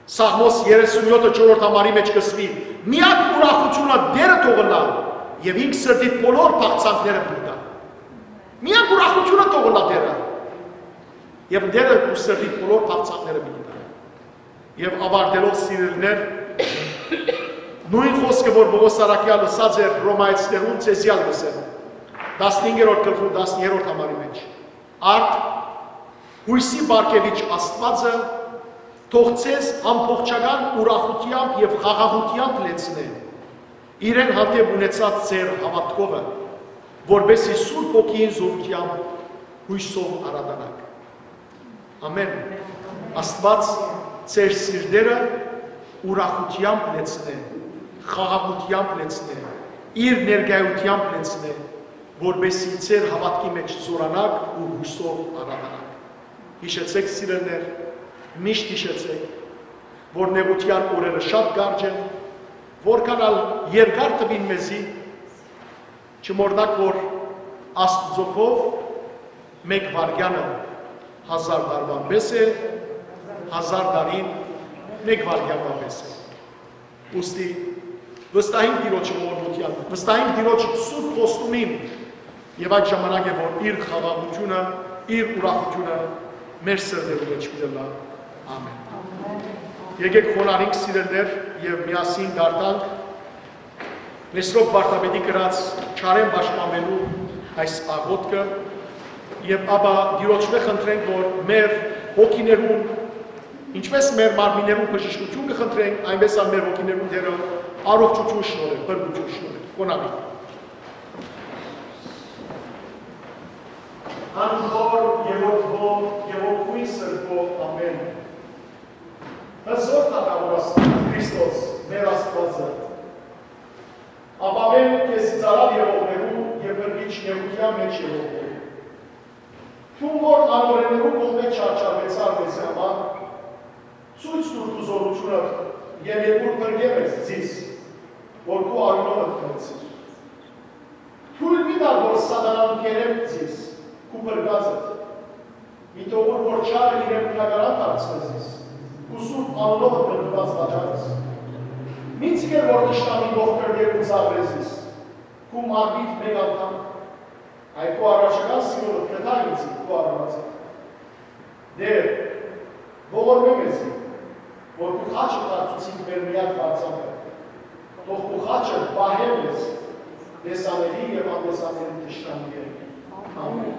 Սաղմոս երեսունյոթը չորրորդ համարի մէջ կ'ըսուի. «Միակ ուրախութիւնը Տէրը թող ըլլայ, եւ ինք սրտիդ բոլոր բաղձանքները պիտի տայ»։ Միակ ուրախութիւնը թող ըլլայ Տէրը, եւ Տէրը քու սրտիդ բոլոր բաղձանքները պիտի տայ։ Եւ աւարտելով, սիրելիներ, նոյն խօսքը, որ Պողոս Առաքեալ ըսած էր Հռոմայեցիներուն, ձեզի ալ կ'ըսեմ, տասնհինգերորդ գլխու տասներորդ համարի մէջ. «Արդ, յոյսի պարգեւիչ Աստուածը թող ձեզ ամբողջական ուրախութեամբ եւ խաղաղութեամբ լեցնէ, իրեն հանդէպ ունեցած ձեր հաւատքովը, որպէսզի Սուրբ Հոգիին զորութեամբ յոյսով արատանաք»։ Ամէն։ Աստուած ձեր սիրտերը ուրախութեամբ լեցնէ, խաղաղութեամբ լեցնէ, իր ներկայութեամբ լեցնէ, որպէսզի ձեր հաւատքի մէջ զօրանաք ու յոյսով արատանաք։ Յիշեցէք, սիրելիներ, միշտ յիշեցէք, որ նեղութեան օրերը շատ կարճ են, որքան ալ երկար թուին մեզի, չմոռնաք, որ Աստուծոյ քով մէկ վայրկեանը հազար տարուան պէս է, հազար տարին մէկ վայրկեան պէս է։ Ուստի վստահենք Տիրոջը ողորմութեան, վստահենք Տիրոջը սուրբ խոստումին, եւ այդ ժամանակ է, որ իր խաղաղութիւնը, իր ուրախութիւնը մեր սրտերու մէջ պիտի ըլլայ։ Ամէն։ Եկէք խոնարհենք, սիրելիներ, եւ միասին կարդանք Մեսրոպ վարդապետի գրած Չարէն պաշտպանուելու այս աղօթքը, եւ ապա Տիրոջմէ խնդրենք, որ մեր հոգիներուն, ինչպես մեր մարմիններուն բժշկութիւն կը խնդրենք, այնպես ալ մեր հոգիներուն Տէրը առողջութիւն շնորհէ, փրկութիւն շնորհէ։ Խոնարհենք։ Անխոր եւ օդվո եւ օդուին սրբո ամէն։ Հզոր թագաւոր Աստուած, Քրիստոս, մեր Աստուածը, ապաւէն քեզի ծառայ եղողներու եւ փրկիչ նեղութեան մէջ եղողներու։ Դուն որ անօրէներու կողմէ չարչարուեցար մեզի համար, ցոյց տուր քու զօրութիւնդ եւ երկուր փրկէ մեզ, զիս, որ քու արիւնովդ գնեցիր։ Թոյլ մի տար, որ սատանան կերեմ զիս, քու փրկածդ։ Մի թողուր, որ չարը իրեն բնակարան դարձնէ զիս, քու սուրբ անունովդ նկատուած վաճառես։ Մի ձգեր, որ թշնամին ողբերգեր ու ծաղրե զիս, քու մարմնիդ մէկ անգամ, այլ քու առաջական սիրովդ կտայ ինձ քու արարածդ։ Տէր, ողորմէ մեզի, որ քու խաչը դարձուցիր մեր միակ պարծապը, թող քու խաչը պահէ մեզ տեսանելի եւ անտեսանելի թշնամիներէն։ Ամէն։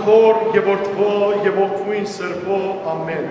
Հօր եւ Որդւոյ եւ Ոգւոյն Սրբոյ։ Ամէն։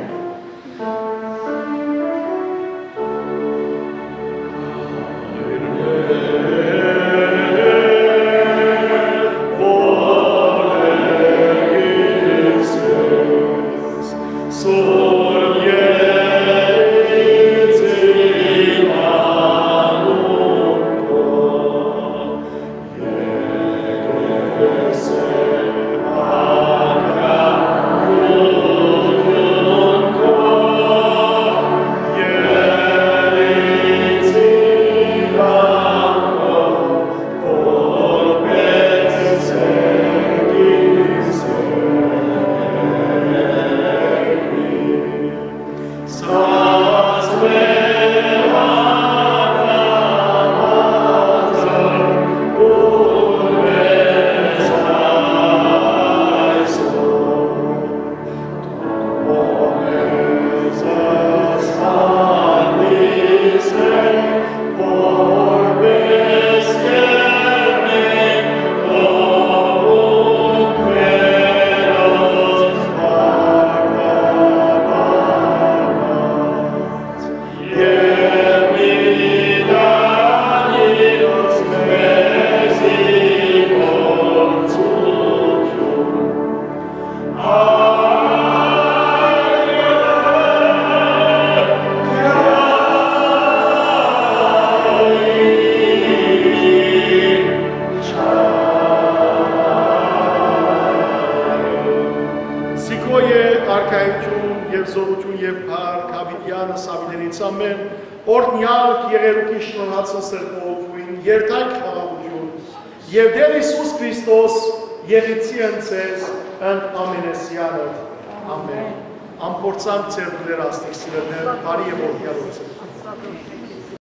Զիքոյ է արքայութիւն եւ զօրութիւն եւ փառք Դաւիդեանս Դաւիդենից, ամէն օրհնեալ եղերուկի շնորհացն Սրբոյ Ոգւոյն, երթայք խաղաղութիւն, եւ Տէր Յիսուս Քրիստոս եղիցի ընծեզ ընդ ամենեսեանը։ Ամէն։ Ամփորձանք ձեր տուները, աստիճաններ, բարի եւ օրհնեալ օրցեր։